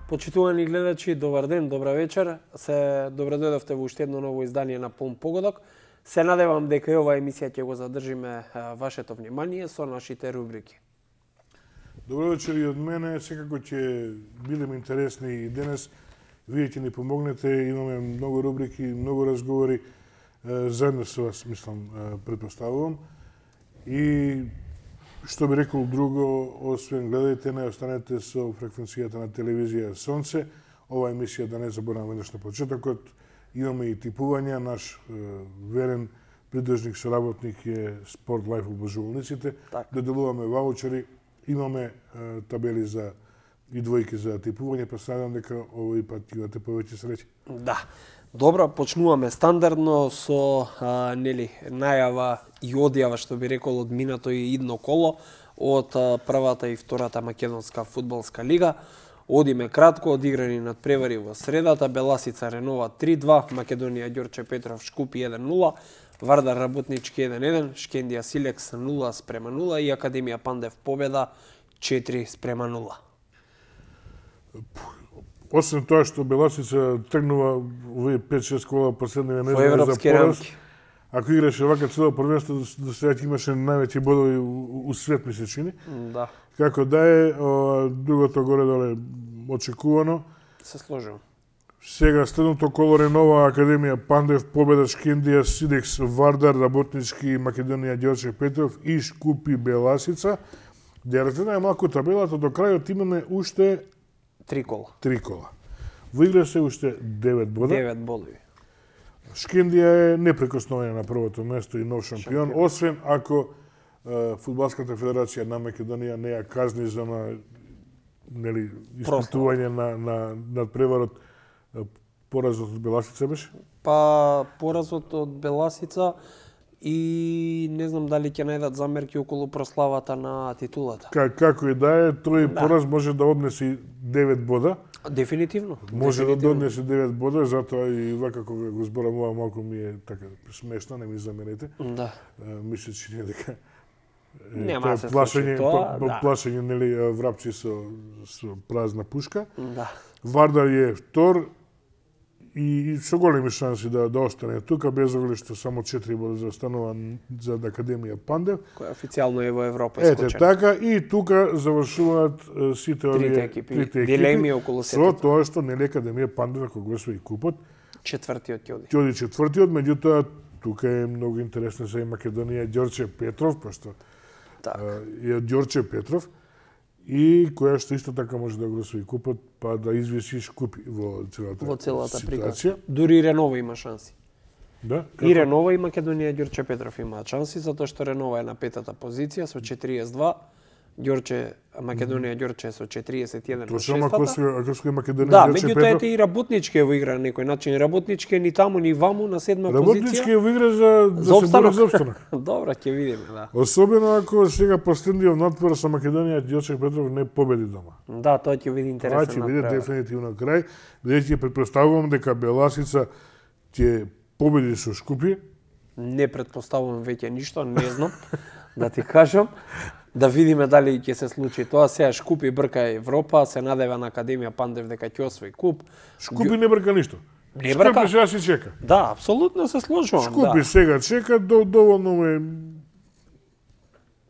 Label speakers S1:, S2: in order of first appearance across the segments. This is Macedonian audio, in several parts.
S1: Почитувани гледачи, добар ден, добра вечер. Се добредојдовте во уште едно ново издание на Полн погодок. Се надевам дека и оваа емисија ќе го задржиме вашето внимание со нашите рубрики.
S2: Добро вечер и од мене. Секако ќе бидеме интересни и денес. Вие ќе ни помогнете. Имаме многу рубрики, многу разговори. Заедно со вас, мислам, предпоставувам. И што би рекол друго, освен гледајте не, останете со фреквенцијата на телевизија Сонце. Ова емисија, да не забораваме веднаш на почетокот, имаме и типувања. Наш верен придржник, соработник е Спорт Лайф обожувалниците. Да делуваме ваучери. Имаме табели за и двојки за типување, па се надам дека овој пат имате повеќе среќа.
S1: Да. Добро, почнуваме стандардно со најава и одјава, што би рекол, од минато и идно коло од првата и втората македонска фудбалска лига. Одиме кратко, одиграни надпревари во средата, Беласица Ренова 3-2, Македонија Ѓорче Петров Шкупи 1-0, Вардар Работнички 1-1, Шкендија Силекс 0-0 и Академија Пандев победа 4-0.
S2: Освен тоа што Беласица тргнува овие 5-6 кола последниве
S1: во европски рамки.
S2: Ако играше вака цело првенство, до сега имаше највеќе бодови у свет, ми се чини.
S1: Да.
S2: Како да е, другото горе-доле очекувано.
S1: Се сложувам.
S2: Сега следното коло Ренова, Академија Пандев, победа Шкендија, Сидекс, Вардар, Работнички, Македонија Ѓорче Петров и Шкупи Беласица. Дерете најмалку табелата, до крајот имаме уште
S1: 3 кола.
S2: 3 кола. Во игра се уште 9 бода.
S1: 9 бодови.
S2: Шкендија е непрекосновена на првото место и нов шампион, освен ако Фудбалската федерација на Македонија не ја казни за испитување на надпреварот. Поразот од Беласица беше?
S1: Па поразот од Беласица и не знам дали ќе најдат замерки околу прославата на титулата.
S2: Како и да е, тој пораз може да однесе 9 бода.
S1: Дефинитивно.
S2: Може да однесе 9 бода, затоа и вака кога го зборавува малку ми е така смешно, не ми замерете.
S1: Да.
S2: Мисле че не дека
S1: нема да се случи тоа.
S2: Плашење, нели, врапци со празна пушка.
S1: Да.
S2: Вардар е втор и со големи шанси да остане тука, без оглед што само 4 бода заостанува за Академија Пандев.
S1: Која официјално е во Европа
S2: искочена. Ете така, и тука завршуваат сите овие
S1: трите екипи околу
S2: сетото. Со тоа што нели Академија Пандев, ако го освои купот,
S1: четвртиот ќе оди.
S2: Ќе оди четвртиот, меѓутоа тука е многу интересно за Македонија Ѓорче Петров, пошто е Ѓорче Петров, и која што исто така може да го освои купот, па да извиси Шкупи во целата
S1: ситуација. Дури Ренова има шанси.
S2: Да?
S1: И Ренова и Македонија Ѓорче Петров имаат шанси, затоа што Ренова е на петата позиција со 42, Македонија Ѓорче со 41 на шестата.
S2: Ако се Македонија
S1: да,
S2: Ѓорче
S1: меѓутоа ете и Работнички во игра на некој начин. Работнички е ни таму ни ваму на седма позиција.
S2: Работнички е во игра да се бори за опстанок.
S1: Добро, ќе видиме, да.
S2: Особено ако сега последниот надпор со Македонија Ѓорче Петров не победи дома.
S1: Да, тоа ќе биде интересно.
S2: Тоа ќе биде дефинитивно крај, бидејќи претпоставувам дека Беласица ќе победи со Шкупи.
S1: Не претпоставувам веќе ништо, не знам да ти кажам. Да видиме дали ќе се случи тоа. Сега Шкупи брка Европа, се надева на Академија Пандев дека ќе освои куп.
S2: Шкупи не брка ништо.
S1: Не брка.
S2: Шкупи сега си чека.
S1: Да, апсолутно се сложувам.
S2: Шкупи сега чека, доволно му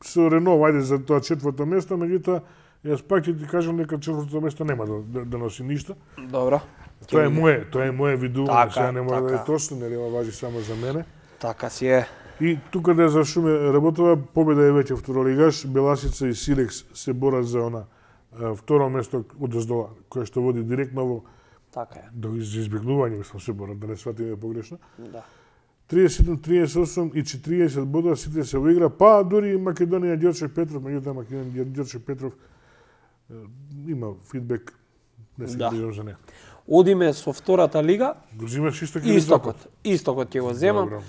S2: со Ренова, ајде за тоа четврто место, меѓутоа јас пак ќе ти кажам дека четвртото место нема да носи ништо.
S1: Добро.
S2: Тоа е мое видување, сега не може да е точно, нели важи само за мене.
S1: Така си е.
S2: И тука да завршиме работова, победа е веќе второлигаш, Беласица и Силекс се борат за она второ место одоздола, кое што води директно во
S1: така е.
S2: До избегнување, мислам, се борат, да не сватиме погрешно.
S1: Да.
S2: 30, 38 и 40 бода сите се во игра, па дури Македонија Ѓорче Петров, меѓутоа Македонија Ѓорче Петров има фидбек, не се грижам за неа.
S1: Одиме со втората лига.
S2: Го взимаш исток или запад?
S1: Истокот ќе го земам.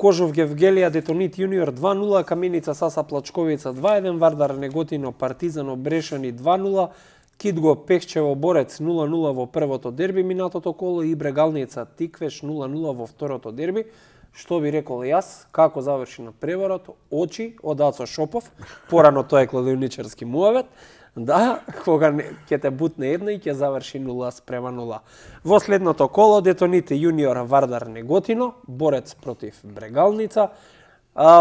S1: Кожов Гевгелија Детонит јуниор 2-0, Каменица Саса Плачковица 2-1, Вардар Неготино Партизано Брешани 2-0, Кидго Пехчево Борец 0-0 во првото дерби минатото коло и Брегалница Тиквеш 0-0 во второто дерби. Што би рекол јас, како заврши на преварот, очи од Ацо Шопов, порано тоа е кладионичарски муавет, Да, кога ќе те бутне една и ќе заврши 0-0. Во следното коло Детоните јуниор Вардар Неготино, борец против Брегалница.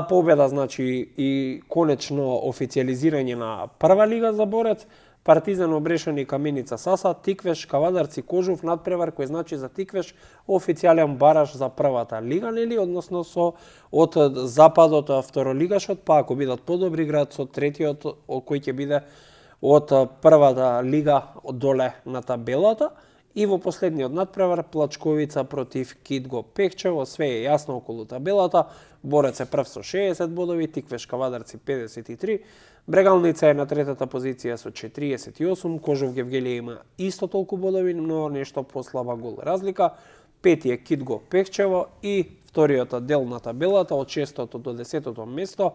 S1: Победа, значи, и конечно официализирање на прва лига за борец. Партизан Обрешани Каменица Саса, Тиквеш Кавадарци Кожув надпревар, кој значи за Тиквеш официјален бараж за првата лига, нели, односно со од западот второлигашот, па ако бидат подобри играат со третиот кој ќе биде од првата лига доле на табелата. И во последниот надпревар Плачковица против Китго Пекчево, све е јасно околу табелата. Борец е прв со 60 бодови, Тиквеш Кавадарци 53, Брегалница е на третата позиција со 48, Кожов Гевгелија има исто толку бодови, но нешто послаба гол разлика. Пети е Китго Пекчево и вториот дел на табелата од 6-тото до 10-тото место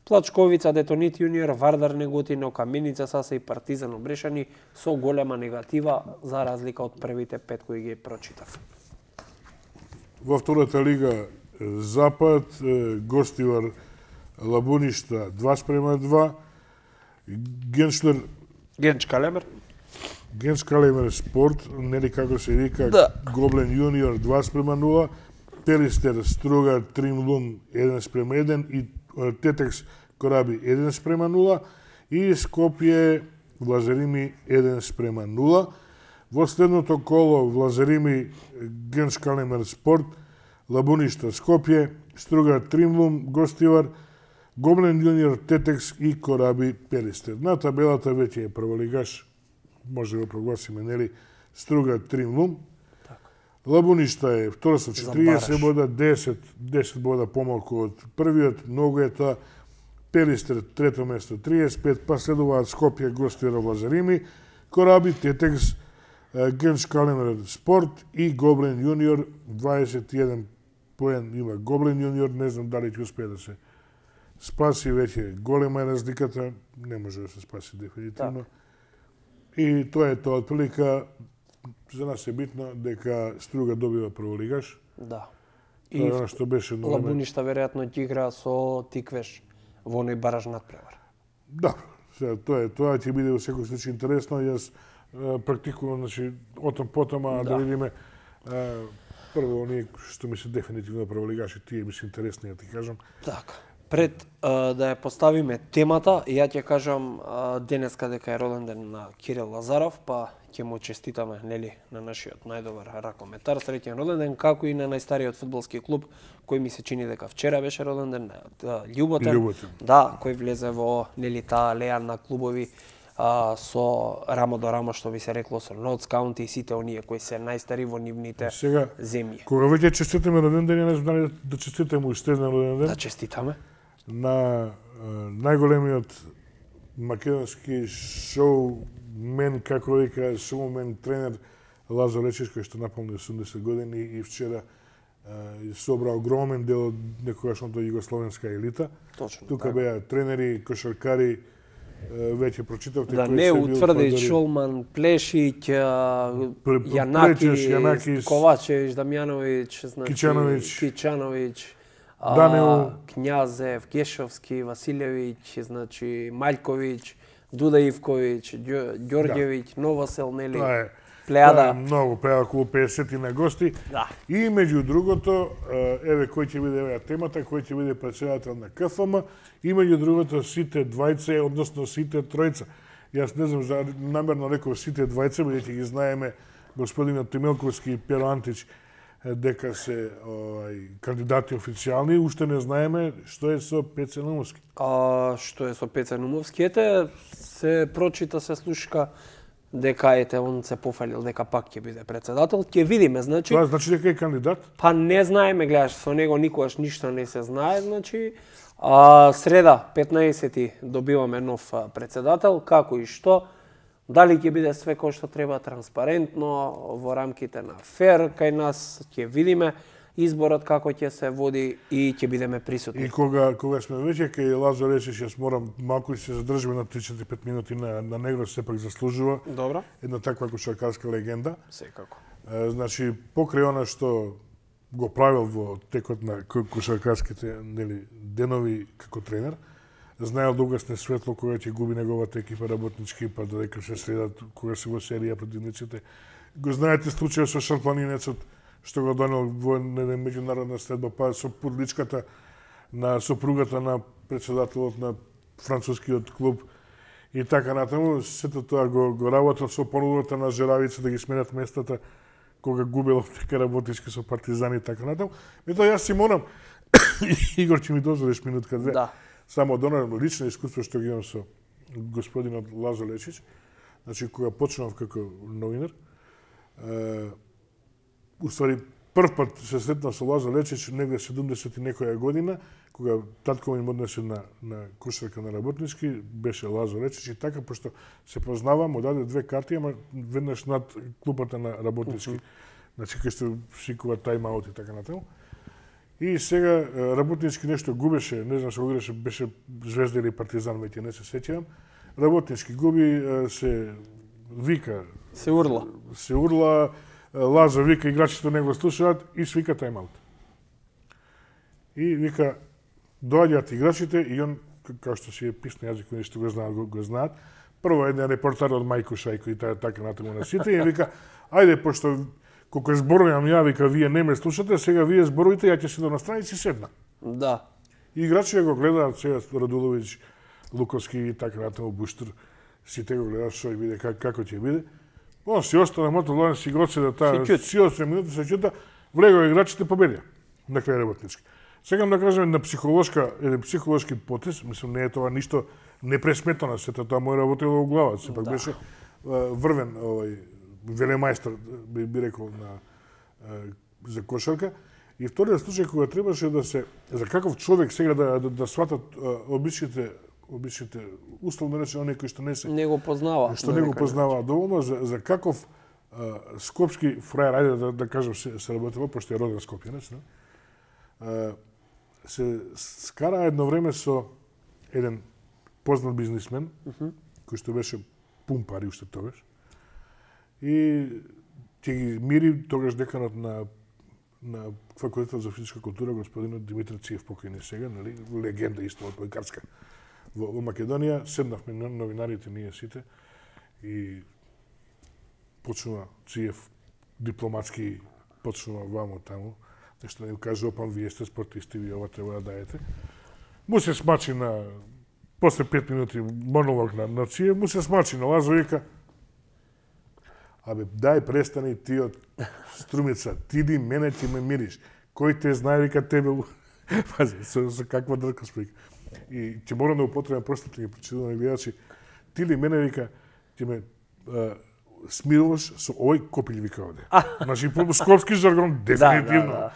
S1: Плачковица, Детонит јуниор, Вардар Неготино, Каменица Саса и Партизан Обрешани со голема негатива за разлика од првите 5 кои ги прочитав.
S2: Во втората лига Запад, гостивар Лабуништа 2:2, Генч Калемер Спорт, нели како се вика,
S1: да.
S2: Гоблен јуниор 2:0, Пелистер Струга Тримлум 1:1 и Тетекс Кораби 1:0 и Скопје Влазерими 1:0. Во следното коло Влазерими Генч Калемер Спорт, Лабуништа Скопје, Струга Тримлум гостивар, Гоблен јуниор Тетекс и Кораби Пелистер. На табелата веќе е прволигаш, може да го прогласиме, нели, Струга Тримлум. Лабуништа е втора со 40 бода, 10 бода помалку од првиот, многу е тоа. Пелистер трето место 35, па следуваат Скопје гостивар Влазерими, Кораби Тетекс, Генч Калемер Спорт и Гоблен јуниор 21 поен има Гоблен јуниор, не знам дали ќе успее да се спаси, веќе голема е разликата, не може да се спаси дефинитивно. И тоа е тоа, отприлика, за нас е битно дека Струга добива прволигаш.
S1: Да.
S2: И тоа што беше
S1: Лабуништа веројатно ќе игра со Тиквеш во оној бараж надпревар.
S2: Да, тоа ќе биде во секој случај интересно. Јас практикувам, значи, потома да видиме прво оние што ми се дефинитивно прволигаши, тие ми се интересни, да ти кажам.
S1: Така. Пред да ја поставиме темата, ја ќе кажам денеска дека е роден ден на Кирил Лазаров, па ќе му честитаме, нели, на нашиот најдобар ракометар, среќен роден ден, како и на најстариот фудбалски клуб, кој ми се чини дека вчера беше роден ден, Љуботен. Да, кој влезе во, нели, таа алеја на клубови со рамо до рамо, што би се рекло, со Нотс Каунти и сите оние кои се најстари во нивните земји.
S2: Кога веќе честитаме роден ден, не знам да честитаме уште еден роден ден.
S1: Да честитаме
S2: на најголемиот македонски шоумен, како вика, шоумен тренер Лазо Лечиш, кој што наполни 80 години и вчера собра огромен дел од некогашната југословенска елита.
S1: Точно.
S2: Тука беа тренери, кошаркари, веќе прочитавте
S1: да, не утврди Шулман, Плешиќ, Јанакис, Ковачевиќ, Дамјановиќ, значи Кичановиќ,
S2: Данил,
S1: Књазев, Гешовски, Василевиќ, значи Маљковиќ, Дуда Ивковиќ, Ѓорѓевиќ, Новосел, нели? Плејада.
S2: Многу, плејада околу 50 на гости.
S1: Да.
S2: И меѓу другото, еве кој ќе биде еве темата, кој ќе биде претседател на КФМ, и меѓу другото сите двајца, односно сите тројца. Јас не знам, намерно реков сите двајца, бидејќи ги знаеме господинот Тимелковски и Перо Антич дека се кандидати официјални, уште не знаеме што е со Пеце Наумовски.
S1: Што е со Пеце Наумовски? Ете, се прочита, се слушка дека он се пофалил дека пак ќе биде председател. Ќе видиме, значи.
S2: Тоа значи дека е кандидат?
S1: Па не знаеме, гледаш, со него никогаш ништо не се знае, значи. Среда, 15-ти, добиваме нов председател, како и што. Дали ќе биде све кој што треба транспарентно, во рамките на фер, кај нас ќе видиме изборот како ќе се води и ќе бидеме присутни.
S2: И кога сме веќе кај Лазо Лечиш, јас морам малку се задржиме на 3-4-5 минути на него, сепак заслужува.
S1: Добро.
S2: Една таква кошаркарска легенда.
S1: Секако.
S2: Значи, покрај она што го правил во текот на кошаркарските денови како тренер, знаел да угасне светло кога ќе губи неговата екипа Работнички, па додека се средат кога се во серија противниците. Го знаете случајот со шарпланинецот што го донел во еден меѓународна следба, па со порличката на сопругата на претседателот на францускиот клуб и така натаму. Сето тоа го работат со понудата на Жеравица да ги сменат местата кога губел дека Работнички со Партизани и така натаму. Мето јас си морам Игор, ќе ми дозволиш минутка две.
S1: Да.
S2: Само од оно лично искуство што ги имам со господинот Лазо Лечич. Значи, кога почнав како новинар, уствари прв пат се сретнав со Лазо Лечич негде 70 и некоја година, кога татко ми однесе на кошарка на Работнички, беше Лазо Лечич и така, пошто се познава, му даде 2 карти, ама веднаш над клупата на Работнички. Значи, кај што свикува тајм-аут и така натаму. И сега Работнички нешто губеше, не знам се го играше, беше Звезда или Партизан, веќе не се сеќавам. Работнички губи, се вика.
S1: Се урла.
S2: Се урла, Лазо вика, играчите не го слушаат и свика тајм-аут. И вика, доаѓаат играчите и он, како што си е писно јазик, кои што го знаат, прво еден репортер од Мајко Шајко и така натаму на сите, и вика, ајде, пошто колку зборувам ја, вика, вие не ме слушате, сега вие зборувате, ја ќе седам на страна и си седна.
S1: Да.
S2: И играчите го гледаат, сега Радуловиќ, Луковски и така натаму, Буштур, сите го гледаат што ќе биде, како ќе биде. Он си остана мото Лорен си го оцеда таа, си 8 минути се чута, влегува играчите, победија на крај Работнички. Сегам да кажем на еден психолошки потез, мислам не е тоа ништо непресметано, сето тоа му работело во главата, сепак беше врвен велемајстор, би рекол, за кошарка. И вториот случај кога требаше да се, за каков човек сега да сватат обичните условно речено оние кои што
S1: не го познава.
S2: Што не го познава доволно, за каков скопски фраер, ајде да кажам се работева, пошто е роден скопјанец, се скара едно време со еден познат бизнисмен, кој што беше пун пари уште тогаш, и ќе ги мири тогаш деканот на Факултетот за физичка култура, господинот Димитар Циев, покојни сега, нали, легенда исто од Појкарска во Македонија. Седнавме новинарите ние сите и почнува Циев дипломатски, почнува вамо таму, нешто да им каже, опам, вие сте спортисти, вие ова треба да даете. Му се смачи после 5 минути монолог на Циев, му се смачи на Лазо и вика, абе, дај престани ти од Струмица, ти ди мене ти ме мириш. Кој те знае, вика тебе... Пази, со каква дркост вика. И ќе морам да употребам простите ги прочитувани гледачи. Ти ли мене, вика, ти ме смируваш со овој копил, вика овде. Значи, по скопски жаргон, дефинитивно.
S1: Да.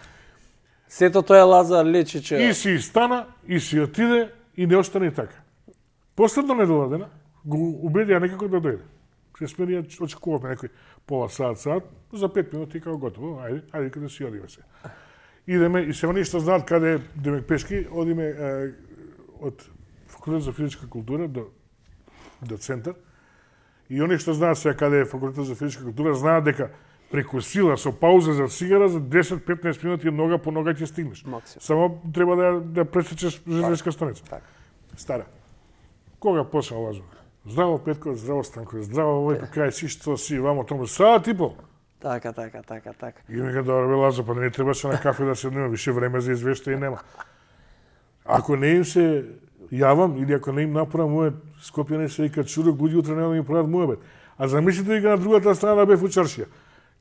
S1: Сето тоа е Лазар Лечич.
S2: И си стана, и си отиде, и не остане така. Последно недела дена, го убедија некако да дојде. Се смирија, очекувавме некој пола саат, за 5 минути и као готово, ајде каде си одиме се. Идеме, и се они што знаат каде идеме пешки, одиме од Факултет за физичка култура до центар. И они што знаат сега каде е Факултет за физичка култура, знаат дека преку сила, со пауза за цигара, за 10-15 минути нога по нога ќе стигнеш.
S1: Максимум.
S2: Само треба да пресечеш железниска станица.
S1: Так.
S2: Стара. Кога почна Лазо? Здраво Петко, здраво Станко, здраво овој, кај си што си, вамо тому, саат и пол.
S1: Така.
S2: И ми га добре, Лазо, па не требаше на кафе да се нема, више време за извештај нема. Ако не им се јавам, или ако не им направам мојот Скопјани се вика чудок, луѓе утре нема да ми прават мојот. А замислите вика на другата страна бев у чаршија.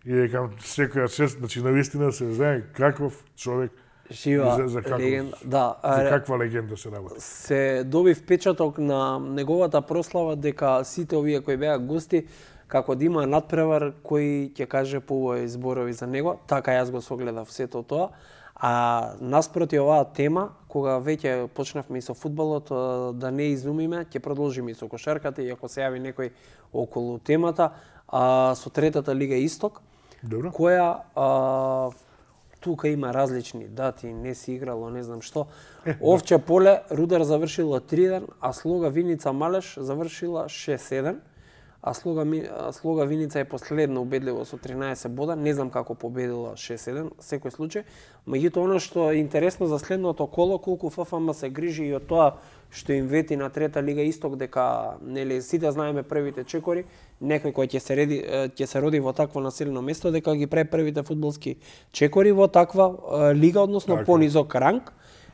S2: И викам, секоја чест, значи навистина се знае каков човек,
S1: жива легенда. Да,
S2: за каква легенда се работи.
S1: Се доби впечаток на неговата прослава дека сите овие кои беа гости како да има надпревар кој ќе каже поубави зборови за него, така јас го согледав сето тоа. А наспроти оваа тема, кога веќе почнавме и со фудбалот, да не изумиме, ќе продолжиме и со кошарката, и ако се јави некој околу темата, со третата лига Исток,
S2: Добро.
S1: Која тука има различни дати, не си играло, не знам што. Овче поле, Рудар завршила 3-1, а Слога Виница Малеш завршила 6-1. а Слога Виница е последно убедливо со 13 бода, не знам како победила 6-1, секој случај. Меѓутоа, оно што е интересно за следното коло, колку ФФМ се грижи и од тоа што им вети на трета лига Исток, дека нели сите знаеме првите чекори, некој кој ќе се роди во такво населено место, дека ги прави првите фудбалски чекори во таква лига, односно понизок ранг.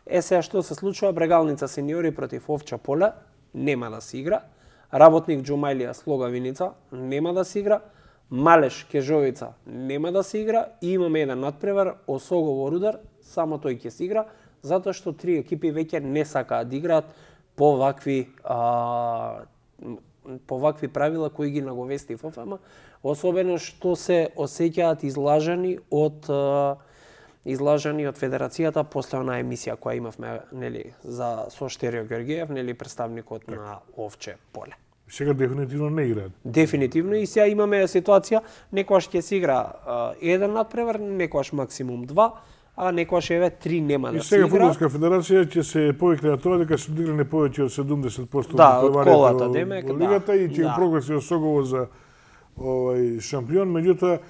S1: Сега што се случува, Брегалница сениори против Овча поле нема да се игра. Работник Џумајлија Слога Виница нема да се игра, Малеш Кежовица нема да се игра и имаме еден надпревар Осогово Рудар, само тој ќе се игра, затоа што три екипи веќе не сакаат да играат по вакви правила кои ги наговести ФФМ, особено што се осеќаат излажани од Федерацијата после онаа емисија која имавме, нели, со Штерио Георгиев, нели, представникот на Овче поле.
S2: Сега дефинитивно не играат.
S1: Дефинитивно и сега имаме ситуација, некојаш ќе се игра еден надпревар, некојаш максимум 2, а некојаш еве 3 нема да се игра.
S2: И сега Фудбалска федерација ќе се повикне на тоа дека се одигране повеќе од 70%
S1: од колата, демек,
S2: од лигата и ќе прогласи Осогово за шампион, меѓутоа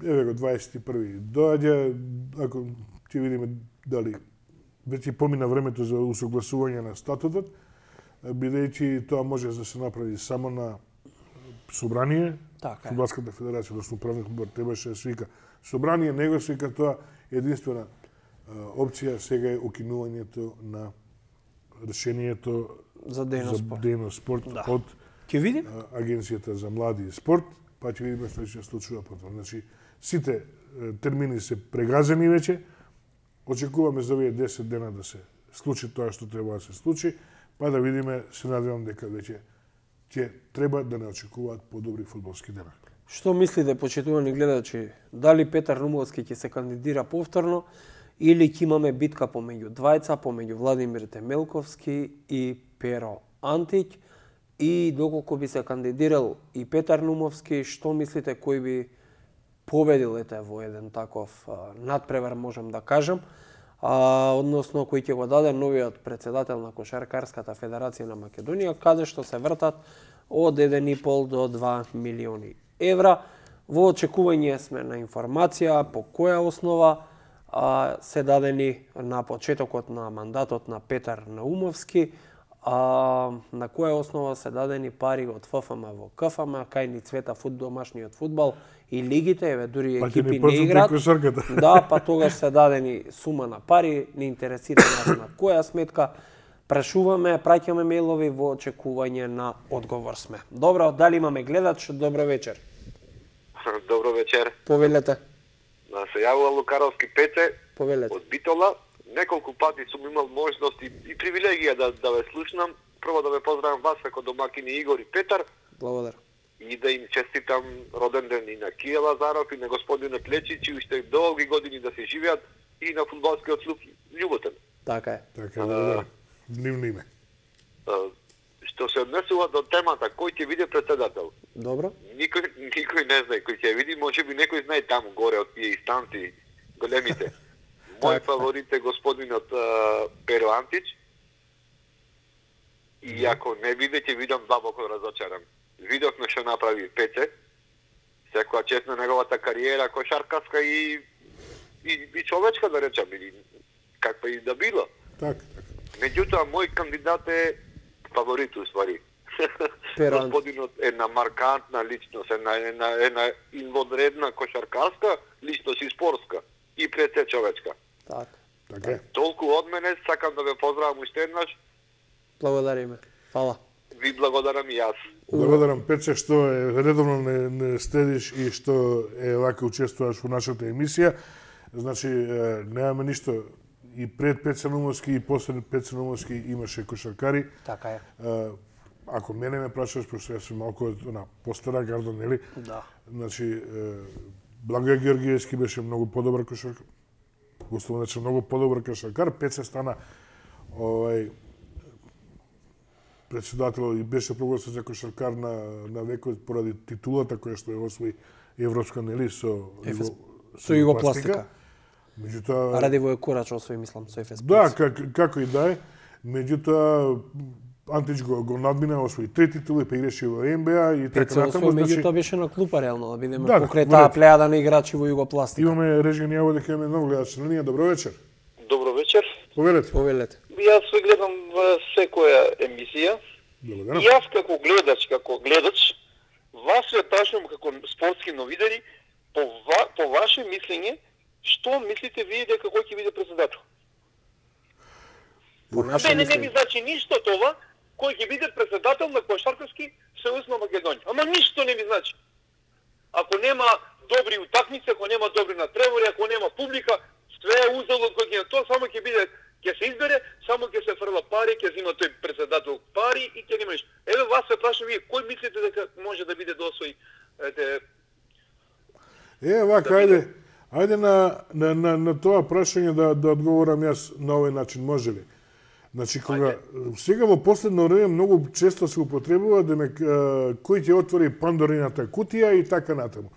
S2: еве го 21. доаѓа, ако ќе видиме дали веќе помина времето за усогласување на статутот, бидејќи тоа може да се направи само на собрание. Фудбалската федерација, односно управниот одбор требаше да свика собрание, него свика тоа, единствена опција сега е укинувањето на решението
S1: за
S2: дејност спорт од Агенцијата за млади и спорт, па ќе видиме што ќе се случува потоа. Значи, сите термини се прегазени веќе, очекуваме за овие 10 дена да се случи тоа што треба да се случи, па да видиме, се надевам дека веќе ќе треба да не очекуваат подобри фудбалски дена.
S1: Што мислите, почитувани гледачи, дали Петар Нумовски ќе се кандидира повторно или ќе имаме битка помеѓу двајца, помеѓу Владимир Темелковски и Перо Антич? И доколку би се кандидирал и Петар Нумовски, што мислите кој би победил во еден таков надпревар, можам да кажам, односно кој ќе го даде новиот председател на Кошаркарската федерација на Македонија, каде што се вртат од 1,5 до 2 милиони евра. Во очекување сме на информација по која основа се дадени на почетокот на мандатот на Петар Наумовски, на која основа се дадени пари од ФФМ во КФМ, кај ни цвета домашниот фудбал и лигите, еве дури екипи не играат. Да, па тогаш се дадени сума на пари, не интересира нас на која сметка. Прашуваме, праќаме мејлови во очекување на одговор сме. Добро, дали имаме гледач? Добро вечер.
S3: Добро вечер.
S1: Повелете.
S3: Се јавува Лукаровски Пете.
S1: Повелете.
S3: Од Битола. Неколку пати сум имал можност и привилегија да ве слушнам. Прво да ве поздравам вас како домакини Игор и Петар.
S1: Благодарам.
S3: И да им честитам роден ден и на Кија Лазаров и на господинот Лечич, и уште долги години да се живеат и на фудбалскиот клуб Љуботен.
S1: Така е.
S2: Така е, да. Нивно име.
S3: Што се однесува до темата, кој ќе биде председател?
S1: Добро.
S3: Никој не знае кој ќе види, можеби некој знае таму горе од тие инстанции големите. Мој фаворит е господинот Перо Антич. И ако не биде, ќе видам длабоко разочаран. Видовме што направи Пете. Секоја чест на неговата кариера кошаркаска и човечка, да речам, или каква и да било.
S2: Така.
S3: Меѓутоа, мој кандидат е фаворит, уствари. Господинот е една маркантна личност, една инводредна кошаркарска личност и спортска. И пред се човечка.
S2: Така.
S3: Толку од мене, сакам да ве поздравам уште еднаш.
S1: Благодариме. Фала.
S3: Ви благодарам и јас.
S2: Благодарам, Петче, што редовно не следиш и што вака учествуваш во нашата емисија. Значи, немаме ништо. И пред Петце Нумовски и после Петце Нумовски имаше кошаркари.
S1: Така е.
S2: Ако мене ме прашаш, пошто јас сум малку постара гарда, нели?
S1: Да.
S2: Значи, Благој Георгиевски беше многу подобар кошаркар. Условно рече, многу подобар кошаркар. Петце стана председател и беше прогласен за кошаркар на векот поради титулата која што ја освои европска, нели, со
S1: Југопластика.
S2: Меѓутоа
S1: Радивој Корач освои, мислам, со ЕФС.
S2: Да, како и да е. Меѓутоа Антич го надмина, освои 3 титули, па играше во НБА и така натаму.
S1: Меѓутоа беше на клупа реално, да бидеме
S2: Да,
S1: покрај таа плејада на играчи во Југопластика.
S2: Имаме Режен Јаво дека имаме нов гледач на линија. Добро вечер.
S3: Добро вечер.
S2: Повелете.
S3: Јас се гледам во секоја емисија.
S2: Благодарам.
S3: Јас како гледач, вас ве прашувам како спортски новинари, по ваше мислење, што мислите вие дека кој ќе биде председател? Не ми значи ништо това, кој ќе биде председател на Кошаркарски сојуз на Македонија. Ама ништо не ми значи. Ако нема добри утакмици, ако нема добри натпревари, ако нема публика, све е узалud кој ќе тоа само ќе биде, ќе се избере, само ќе се фрла пари, ќе зима тој председател пари и ќе нема ништо. Еве вас се прашувам вие, кој мислите дека може да биде досој
S2: вака, ајде на тоа прашање да одговорам јас на овој начин, може ли? Значи, кога сега во последно време многу често се употребува кој ќе отвори Пандорината кутија и така натаму.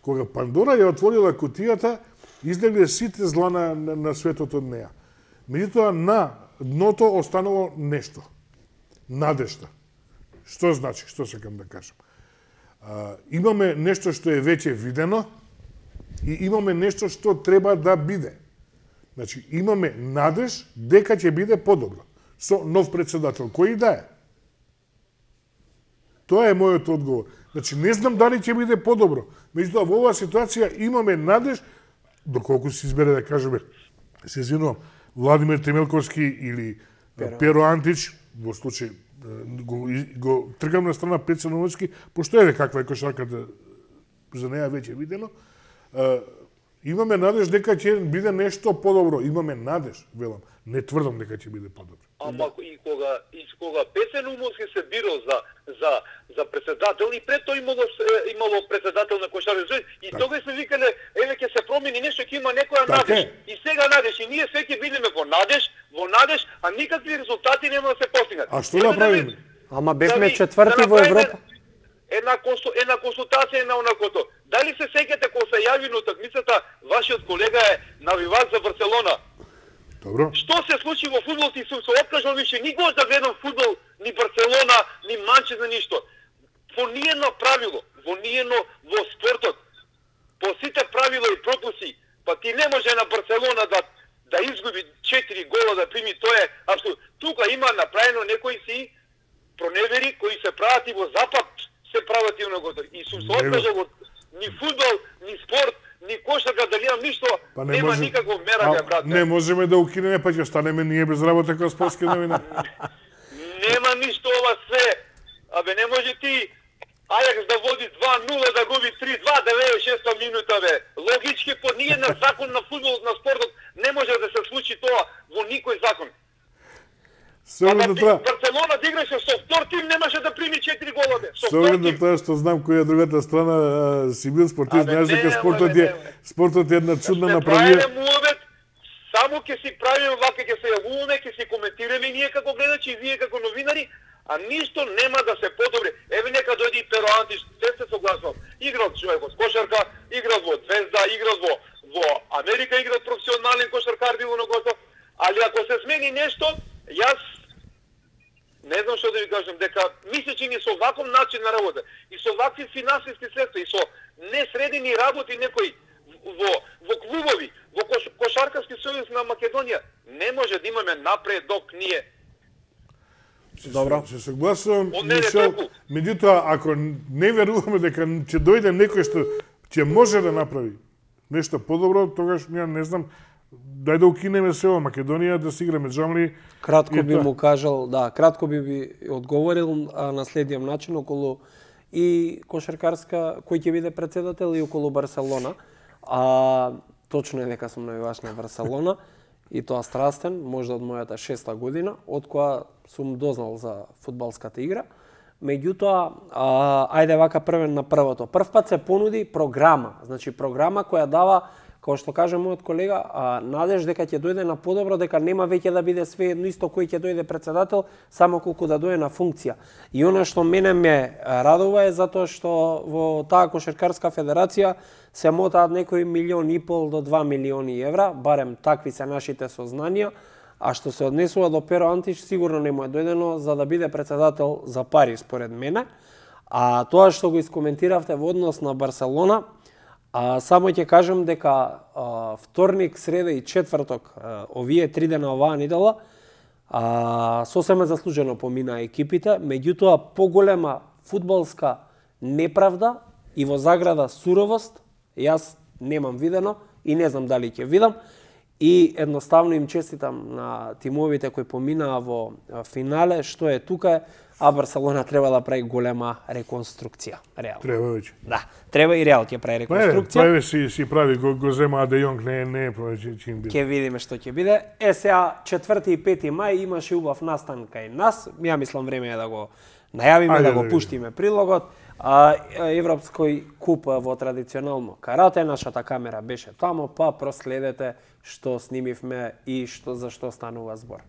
S2: Кога Пандора ја отворила кутијата, излегле сите зла на светот од неа. Меѓутоа на дното останало нешто. Надежда. Што значи, што сакам да кажам? Имаме нешто што е веќе видено и имаме нешто што треба да биде. Значи, имаме надеж дека ќе биде подобро со нов председател, кој да е. Тоа е мојот одговор. Значи, не знам дали ќе биде подобро. Меѓутоа, во оваа ситуација имаме надеж, доколку се избере да кажеме, се извинувам, Владимир Темелковски или Перо Антич, во случај го тргам на страна Пеца Новоцки, пошто еве каква е кошарката за неја веќе видено, имаме надеж дека ќе биде нешто подобро. Имаме надеж, велам. Не тврдам дека ќе биде подобро.
S3: Ама и кога Пеца Новоцки се бирал за председател и пред тоа имало председател на Кошаркарски и тогаш се викале еве ќе се промени нешто, ќе има некоја надеж. И сега надеж и ние се ќе бидеме во надеж, а никакви резултати нема да се постигнат.
S2: А што да правиме?
S1: Ама бевме четврти во Европа.
S3: Една консултација на онакото. Дали се сеќате кога се јави на утакмицата, вашиот колега е навивач за Барселона?
S2: Добро.
S3: Што се случи во фудбал и сум се откажал више никогаш да гледам фудбал, ни Барселона, ни Манчестер, ништо. Во ниедно правило, во спортот, по сите правила и пропуси, па ти не може на Барселона да изгуби 4 гола да прими, тоа е апсолутно. Тука има направено некои си проневери кои се прават и во запад се прават и онакото. И сум се откажал од ни фудбал, ни спорт, ни кошарка, дали имам ништо, нема никакво мерање, брат.
S2: Не можеме да укинеме, па ќе останеме ние без работа како спортски новина.
S3: Нема ништо ова све. Абе, не може ти Ајакс да води 2-0, да губи 3-2, 96 минута, бе. Логички, по ниеден закон на фудбалот, на спортот, не може да се случи тоа во никој закон. Барселона да играше со втор тим, немаше да прими 4 гола, бе.
S2: Со оглед на тоа што знам која другата страна си бил спортист, знаеш дека спортот е една чудна направија.
S3: Само ќе си правиме вака, ќе се јавуваме, ќе си коментираме ние како гледачи и вие како новинари, а ништо нема да се подобри. Еве нека дојде и Перо Антич, се согласувам. Играл човек во кошарка, играл во Звезда, играл во Америка, играл професионален кошаркар било на гото. Али ако се смени нешто, јас не знам што да ви кажам, дека мисле че ни со ваков начин на работа и со вакви финансиски средства и со несредени работи некои во клубови, во Кошаркарски сојуз на Македонија, не може да имаме напредок ние.
S2: Добро. Се согласувам, Мишел, меѓутоа, ако не веруваме дека ќе дојде некој што ќе може да направи нешто подобро, тогаш не знам, дај да укинеме се во Македонија, да си играме джамли.
S1: Кратко би му кажал, кратко би одговорил на следниот начин околу и Кошаркарска, кој ќе биде председател и околу Барселона. Точно е дека сум навивач на Барселона и тоа страстен, можда од мојата 6-та година, од која сум дознал за фудбалската игра. Меѓутоа, ајде вака првен на првото. Прв пат се понуди програма, значи програма која дава, како што каже мојот колега, надеж дека ќе дојде на подобро, дека нема веќе да биде све едно исто кој ќе дојде председател, само колку да дојде на функција. И она што мене ме радува е затоа што во таа Кошаркарска федерација се мотаат некои 1,5 до 2 милиони евра, барем такви се нашите сознанија, А што се однесува до Перо Антич, сигурно не му е дојдено за да биде председател за пари, според мене. А тоа што го искоментиравте во однос на Барселона, само ќе кажем дека вторник, среда и четврток, овие 3 дена оваа недела, сосема заслужено помина екипите, меѓутоа поголема фудбалска неправда и во заграда суровост, јас немам видено и не знам дали ќе видам. И едноставно им честитам на тимовите кои поминаа во финале, што е тука, а Барселона треба да прави голема реконструкција. Реал.
S2: Треба веќе.
S1: Да, треба и Реал ќе прави реконструкција.
S2: Прави си прави, го зема Де Јонг, не е чим биде.
S1: Ќе видиме што ќе биде. Сега 4 и 5 мај имаше убав настан кај нас. Ја мислам време е да го најавиме, да го пуштиме прилогот. Европској куп во традиционално карате, нашата камера беше тамо, па проследете што снимивме и за што станува збор.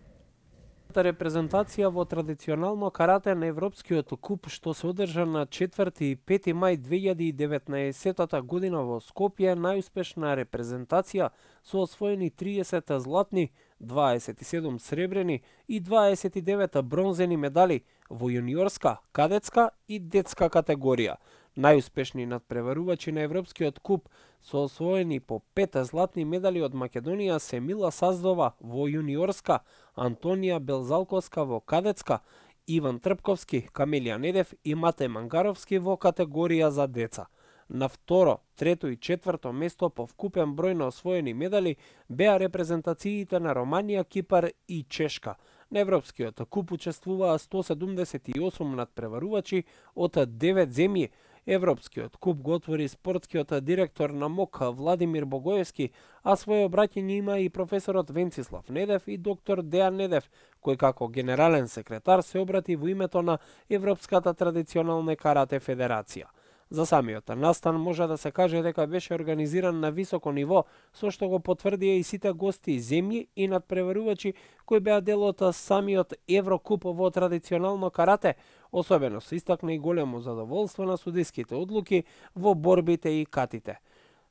S1: Репрезентација во традиционално карате на Европскиот куп што се одржа на 4 и 5 мај 2019 година во Скопје, најуспешна репрезентација со освоени 30 златни, 27 сребрени и 29 бронзени медали во јуниорска, кадетска и детска категорија. Најуспешни надпреварувачи на Европскиот куп со освоени по 5 златни медали од Македонија се Мила Саздова во јуниорска, Антонија Белзалковска во кадетска, Иван Трпковски, Камелија Недев и Матеј Мангаровски во категорија за деца. На второ, трето и четврто место по вкупен број на освоени медали беа репрезентациите на Романија, Кипар и Чешка. На Европскиот куп учествуваа 178 надпреварувачи од 9 земји. Европскиот куп го отвори спортскиот директор на МОК Владимир Богоевски, а своје обраќање има и професорот Венцислав Недев и доктор Дејан Недев, кој како генерален секретар се обрати во името на Европската традиционална карате федерација. За самиот настан може да се каже дека беше организиран на високо ниво, со што го потврдија и сите гости, земји и надпреварувачи кои беа дел од самиот Еврокуп во традиционално карате. Особено се истакна и големо задоволство на судиските одлуки во борбите и катите.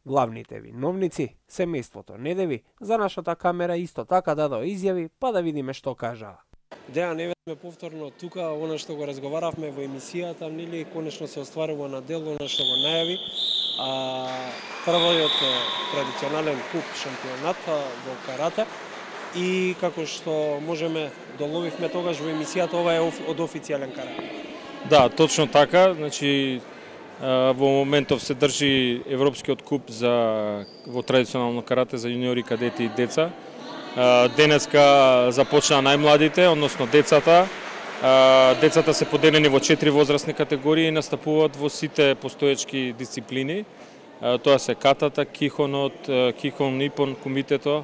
S1: Главните виновници, семејството Недеви, за нашата камера исто така дадоа изјави, па да видиме што кажаа. Деа, не сме повторно тука, она што го разговаравме во емисијата, нели конечно се остварува на дел, она што го најави. Првиот традиционален куп шампионат во карате и како што можеме доловивме тогаш во емисијата, ова е од официјален карате.
S4: Да, точно така, значи во моментов се држи Европскиот куп во традиционално карате за јуниори, кадети и деца. Денеска започнаа најмладите, односно децата. Децата се поделени во 4 возрастни категории и настапуваат во сите постоечки дисциплини. Тоа се катата, кихонот, кихон нипон, кумитето,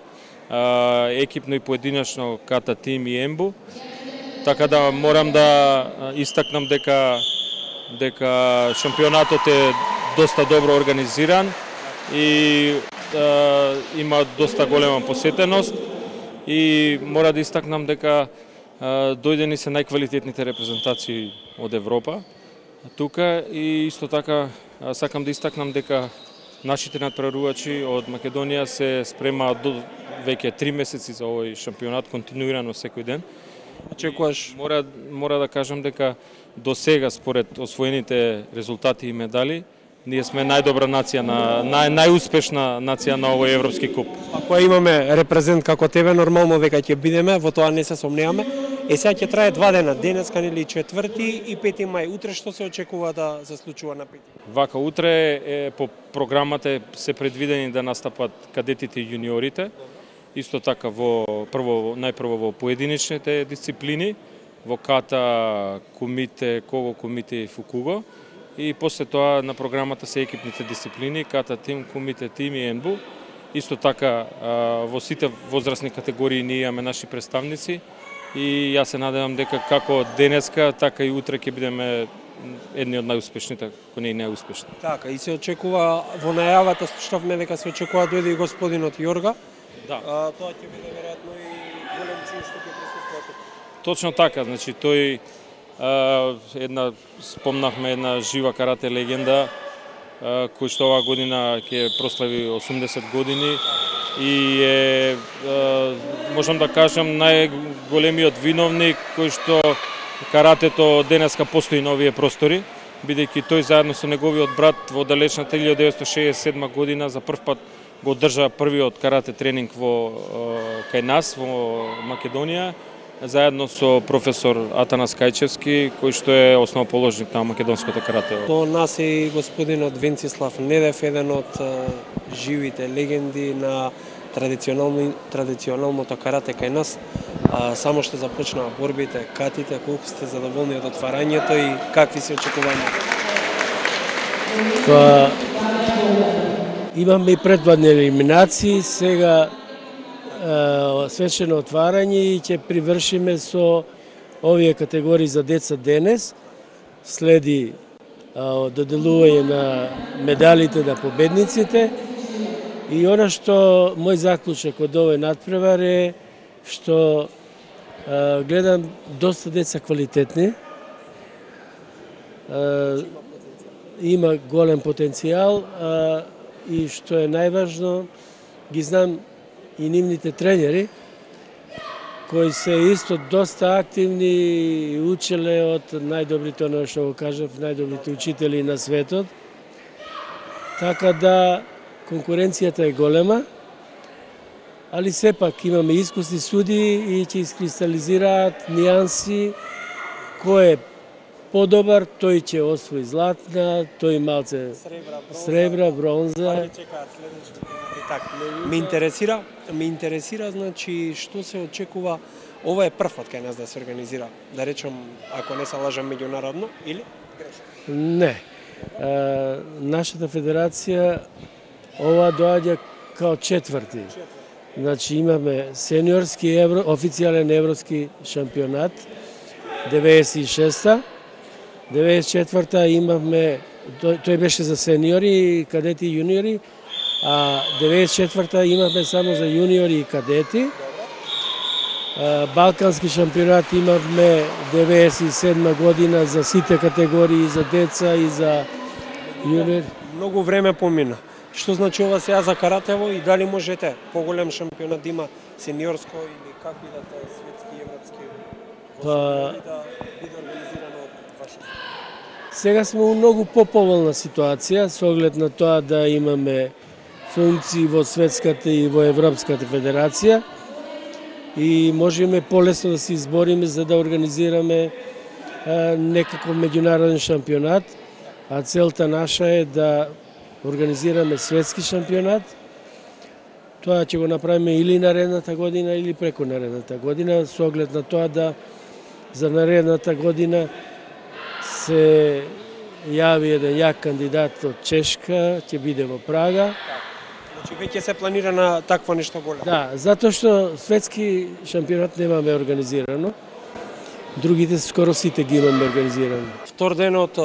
S4: екипно и поединечно ката тим и ембу. Така да морам да истакнам дека шампионатот е доста добро организиран и има доста голема посетеност. И мора да истакнам дека дојдени се најквалитетните репрезентации од Европа тука и исто така сакам да истакнам дека нашите надпреварувачи од Македонија се спремаат до веќе 3 месеци за овој шампионат континуирано секој ден.
S1: Очекуваш?
S4: Мора да кажам дека до сега според освоените резултати и медали ние сме најдобра нација, најуспешна нација на овој Европски куп.
S1: Ако имаме репрезент како тебе, нормално дека ќе бидеме, во тоа не се сомневаме. Сега ќе трае 2 дена, денеска нели 4 и 5 мај. Утре што се очекува да се случува на 5?
S4: Вака, утре по програмата се предвидени да настапат кадетите и јуниорите. Исто така најпрво во поединечните дисциплини, во ката, кумите, кого кумите и фукуго. И после тоа на програмата се екипните дисциплини, ката тим, кумите тим и енбу. Исто така во сите возрастни категории ние имаме наши представници и јас се надевам дека како денеска, така и утре ќе бидеме едни од најуспешните, ако не и најуспешни.
S1: Така, и се очекува во најавата, слушавме дека се очекува дојде и господинот Јорга.
S4: Да.
S1: Тоа ќе биде веројатно и голем чин што ќе присуствува тука.
S4: Точно така, значи тој спомнавме една жива карате легенда кој што оваа година ќе прослави 80 години и е, можам да кажам, најголемиот виновник кој што каратето денеска постои на овие простори, бидејќи тој заедно со неговиот брат во далечната 1967 година за прв пат го одржа првиот карате тренинг кај нас во Македонија, заедно со професор Атанас Кајчевски, кој што е основоположник на македонското карате.
S1: До нас е и господинот Венцислав Недев, еден од живите легенди на традиционалното карате кај нас. Само што започнаа борбите, катите, колку сте задоволни од отварањето и какви се очекувања?
S5: Имаме и предводни елиминации, сега свечено отварање и ќе привршиме со овие категории за деца денес. Следи доделување на медалите на победниците и она што мој заклучок од овој надпревар е што гледам доста деца квалитетни, има голем потенцијал и што е најважно, ги знам и нивните тренери, кои се исто доста активни и учеле од најдобрите, оно што го кажав, најдобрите учители на светот. Така да конкуренцијата е голема, али сепак имаме искусни судии и ќе искристализираат нијанси кој е подобар, тој ќе освои златна, тој малце сребра, бронза.
S1: Ме интересира, значи, што се очекува, ова е прв пат кај нас да се организира, да речем, ако не се лажам, меѓународно, или?
S5: Не. Нашата федерација, ова доаѓа као четврти. Значи, имаме сениорски официјален европски шампионат, 96-та, 94-та имавме, тој беше за сениори, кадети и јуниори, а 94-та имавме само за јуниори и кадети. Балкански шампионат имавме 97 година за сите категории, за деца и за јуниори.
S1: Многу време помина. Што значи ова сега за каратево и дали можете поголем шампионат има сениорско или какви да те светски, европски, да биде организирано од ваша?
S5: Сега сме во многу поповолна ситуација со оглед на тоа да имаме функции во светската и во европската федерација и можеме полесно да се избориме за да организираме некаков меѓународен шампионат, а целта наша е да организираме светски шампионат. Тоа ќе го направиме или наредната година или преку наредната година, со оглед на тоа да за наредната година се јави еден јак кандидат од Чешка, ќе биде во Прага.
S1: Значи веќе се планира на такво нешто големо?
S5: Да, затоа што светски шампионат немаме организирано. Другите скоро сите ги имаме организирано.
S1: Втор ден од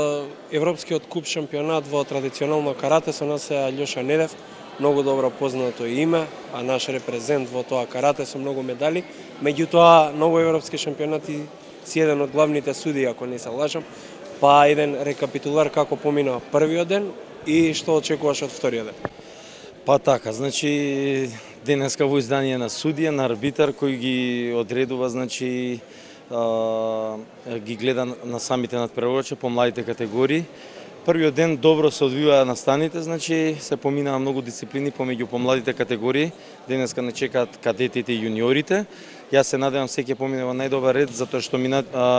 S1: Европскиот куп шампионат во традиционално карате со нас е Алјоша Недев, многу добро познато име, а наш репрезент во тоа карате со многу медали. Меѓутоа, многу европски шампионати си еден од главните судии, ако не се лажам. Па еден рекапитулар како помина првиот ден и што очекуваш од вториот ден?
S6: Па така, значи денеска во издание на судија, на арбитар кој ги одредува, значи ги гледа на самите надпреварувачи по младите категории. Првиот ден добро се одвиваа настаните, значи се поминаа многу дисциплини помеѓу помладите категории. Денеска не чекаат кадетите и јуниорите. Јас се надевам се ќе помине во најдобар ред, затоа што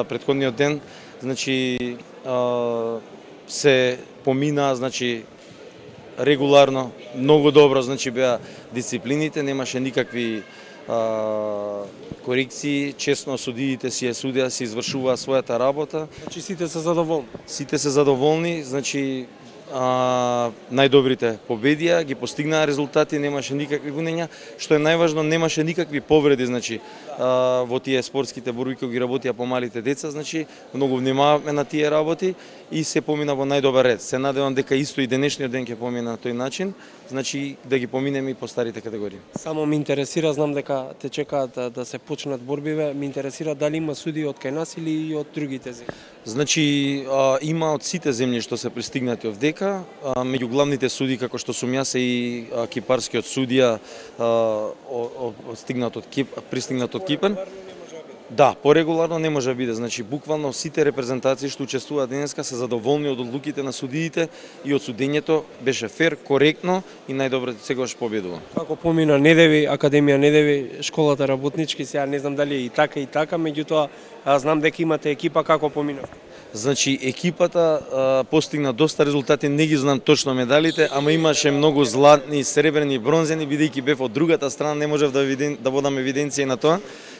S6: претходниот ден, значи се поминаа, значи регуларно, многу добро, значи беа дисциплините, немаше никакви корекции, честно судиите си судија, си извршуваа својата работа.
S1: Значи сите се задоволни?
S6: Сите се задоволни, значи најдобрите победија, ги постигнаа резултати, немаше никакви гунења, што е најважно, немаше никакви повреди, значи во тие спортските борби кои ги работија помалите деца, значи многу внимаваме на тие работи и се помина во најдобар ред. Се надевам дека исто и денешниот ден ќе помина на тој начин, значи да ги поминеме и по старите категории.
S1: Само ме интересира, знам дека те чекаат да се почнат борбиве, ме интересира дали има судии од кај нас или и од другите земји.
S6: Значи има од сите земји што се пристигнати овдека, така, меѓу главните суди како што сум јас и кипарскиот судија пристигнат од Кипар. Да, порегуларно не може да биде. Значи, буквално сите репрезентации што учествуваат денеска се задоволни од одлуките на судиите и од судењето беше фер, коректно и најдобро секогаш победува.
S1: Како помина Недеви, Академија Недеви, школата работнички, сега не знам дали е и така, меѓутоа знам дека имате екипа, како помина?
S6: Значи, екипата постигна доста резултати, не ги знам точно медалите, ама имаше многу златни, сребрени, бронзени, бидејќи бев од другата страна, не можев да водам евиденција на тоа.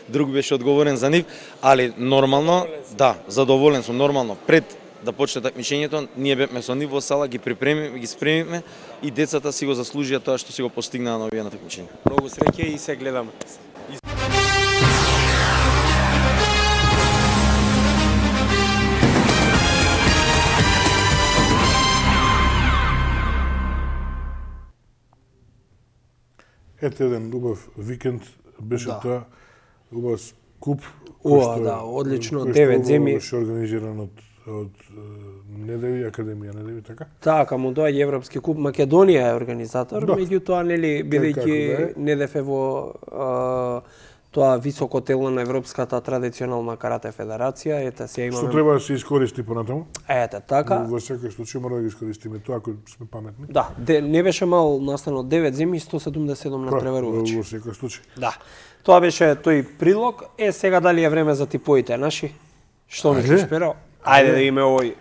S6: Друг беше одговорен за нив, али нормално, да, задоволен сум, нормално. Пред да почне такмичењето, ние бевме со нив во сала, ги спремивме и децата си го заслужија тоа што си го постигнаа на овие такмичења.
S1: Многу среќа и се гледаме.
S2: Ете еден убав викенд беше тоа, убав куп.
S1: Да, одлично, 9 земи.
S2: Беше организиран од Недеви, Академија Недеви, така?
S1: Така, му доаѓа Европски куп, Македонија е организатор, меѓутоа, нели, бидејќи Недев е во тоа високо тело на Европската традиционална карате федерација, ете сега имаме...
S2: Што треба да се искористи понатаму?
S1: Ете, така.
S2: Во секој случај мора да ги искористиме тоа, ако сме паметни.
S1: Да, не беше мал настанот 9 земи, 177 надпреварувачи.
S2: Во секој случај.
S1: Да. Тоа беше тој прилог. Сега дали е време за типоите наши? Што мислиш, Перо? Ајде да име овој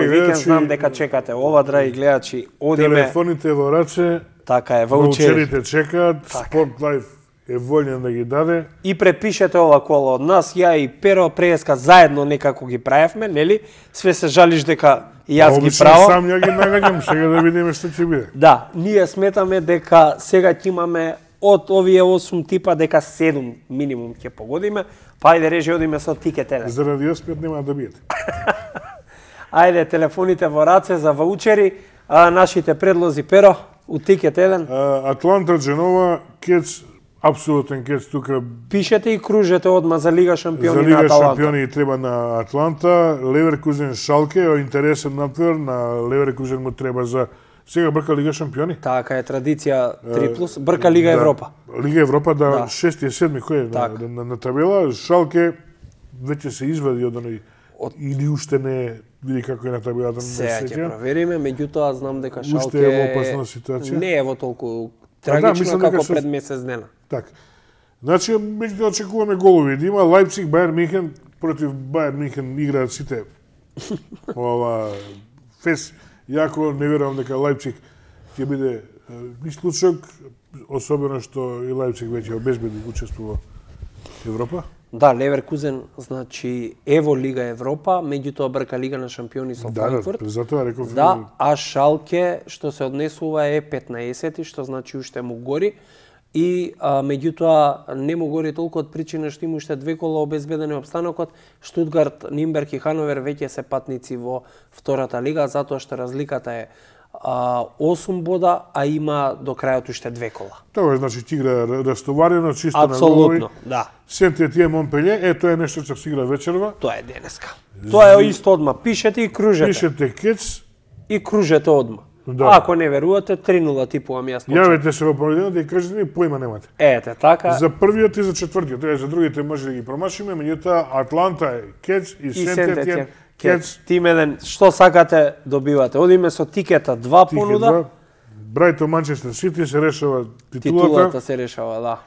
S1: викенд, знам дека чекате ова, драги гледачи, одиме...
S2: Телефоните во раце,
S1: така е, ваучери.
S2: Ваучерите чекаат, Спорт Лайф е волен да ги даде.
S1: И препишете ова коло од нас, ја и Перо преска заедно некако ги правевме, нели? Све се жалиш дека и јас ги правам.
S2: Сам ја ги нагаѓам, сега да видиме што ќе биде.
S1: Да, ние сметаме дека сега ќе имаме од овие 8 типа дека 7 минимум ќе погодиме, па ајде режи одиме со тикет еден.
S2: Зарадиоспет нема да биете.
S1: Ајде, телефоните во раце за ваучери, нашите предлози, Перо, у тикет еден.
S2: Атланта, Дженова, Кец, апсолутен Кец тука.
S1: Пишете и кружете одма за Лига шампиони на Аталанта.
S2: За Лига шампиони треба на Атланта, Леверкузен, Шалке, интересен надвор, на Леверкузен му треба за... Сега брка Лига шампиони.
S1: Така е, традиција 3+, брка Лига Европа.
S2: Лига Европа, да, 6 и 7 кој е на табела. Шалке веќе се извади од оној, или уште не види како е на табелата.
S1: Сега ќе провериме, меѓутоа знам дека Шалке
S2: уште е во опасна ситуација.
S1: Не е во толку трагично како пред месец дена.
S2: Така. Значи, меѓутоа очекуваме голови. Да има Лајпциг, Бајер Михен, против Бајер Михен играат сите фес. Јако не верувам дека Лајпциг ќе биде исклучок, особено што и Лајпциг веќе обезбеди учество во Европа.
S1: Да, Леверкузен, значи, ево Лига Европа, меѓутоа брка Лига на шампиони со Франкфурт.
S2: Да, затоа реков.
S1: Да, а Шалке, што се однесува е 15-ти, што значи уште му гори. И меѓутоа не му гори толку од причина што има уште 2 кола обезбедени обстанокот. Штутгарт, Нимберг и Хановер веќе се патници во втората лига, затоа што разликата е 8 бода, а има до крајот уште 2 кола.
S2: Тоа значи ќе игра растоварено, чисто на голови.
S1: Апсолутно, да.
S2: Сент-Етиен, Монпелје, тоа е нешто што се игра вечерва.
S1: Тоа е денеска. Тоа е исто одма. Пишете и кружете.
S2: Пишете Кец
S1: и кружете одма. Да. Ако не верувате, 3-0 типувам јас.
S2: Јавете се во понеделник и кажете ми поима немате.
S1: Ете, така.
S2: За првиот и за четвртиот, за другите може да ги промашиме, меѓутоа Атланта е Кец и Сент-Етиен Кец.
S1: Тим еден, што сакате добивате. Одиме со тикета 2 понуда.
S2: Брајто Манчестер Сити се решава титулата.
S1: Титулата се решава, да.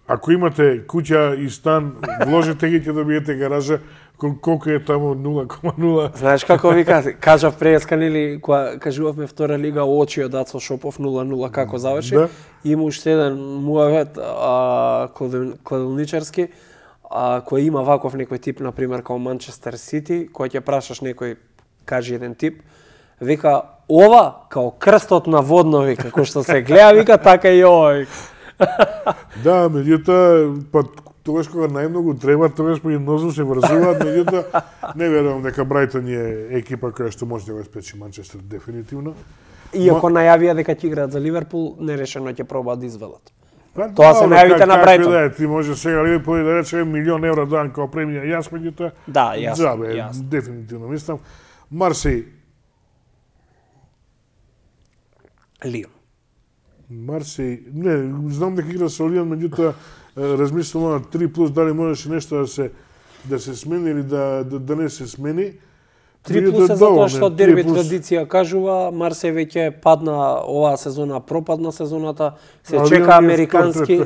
S2: Ако имате куќа и стан, вложете ги, ќе добиете гаража. Колку е таму 0,0.
S1: Знаеш како ви кажав преска, нели, кога кажувавме втора лига, очи од Ацо Шопов 0-0 како заврши. Да. Има уште еден муавет кладилничарски, кој има ваков некој тип, например, као Манчестер Сити, кој ќе прашаш некој, кажи еден тип, вика, ова, као крстот на водно, вика, кој што се гледа, вика, така и ова, вика.
S2: Да, меѓутоа, па тогаш кога најмногу треба, тогаш по еднозу се врзуваат, меѓутоа не верувам дека Брайтон е екипа која што може да го спечи Манчестер дефинитивно.
S1: Иако најавија дека ќе играат за Ливерпул, нерешено ќе пробаат да извелат. Тоа се најавите на Брайтон.
S2: Да, ти може сега Ливерпул да рече €1.000.000 дан како премија, јас меѓутоа.
S1: Да, јасно.
S2: Дефинитивно мислам. Марсеј
S1: Лион.
S2: Марсеј, не, знам дека игра со Лион, меѓутоа размислувам на 3+, дали можеше нешто да се смени или да не се смени.
S1: 3+ е затоа што дерби традиција кажува, Марсеј веќе падна оваа сезона, пропадна сезоната, се чека американски,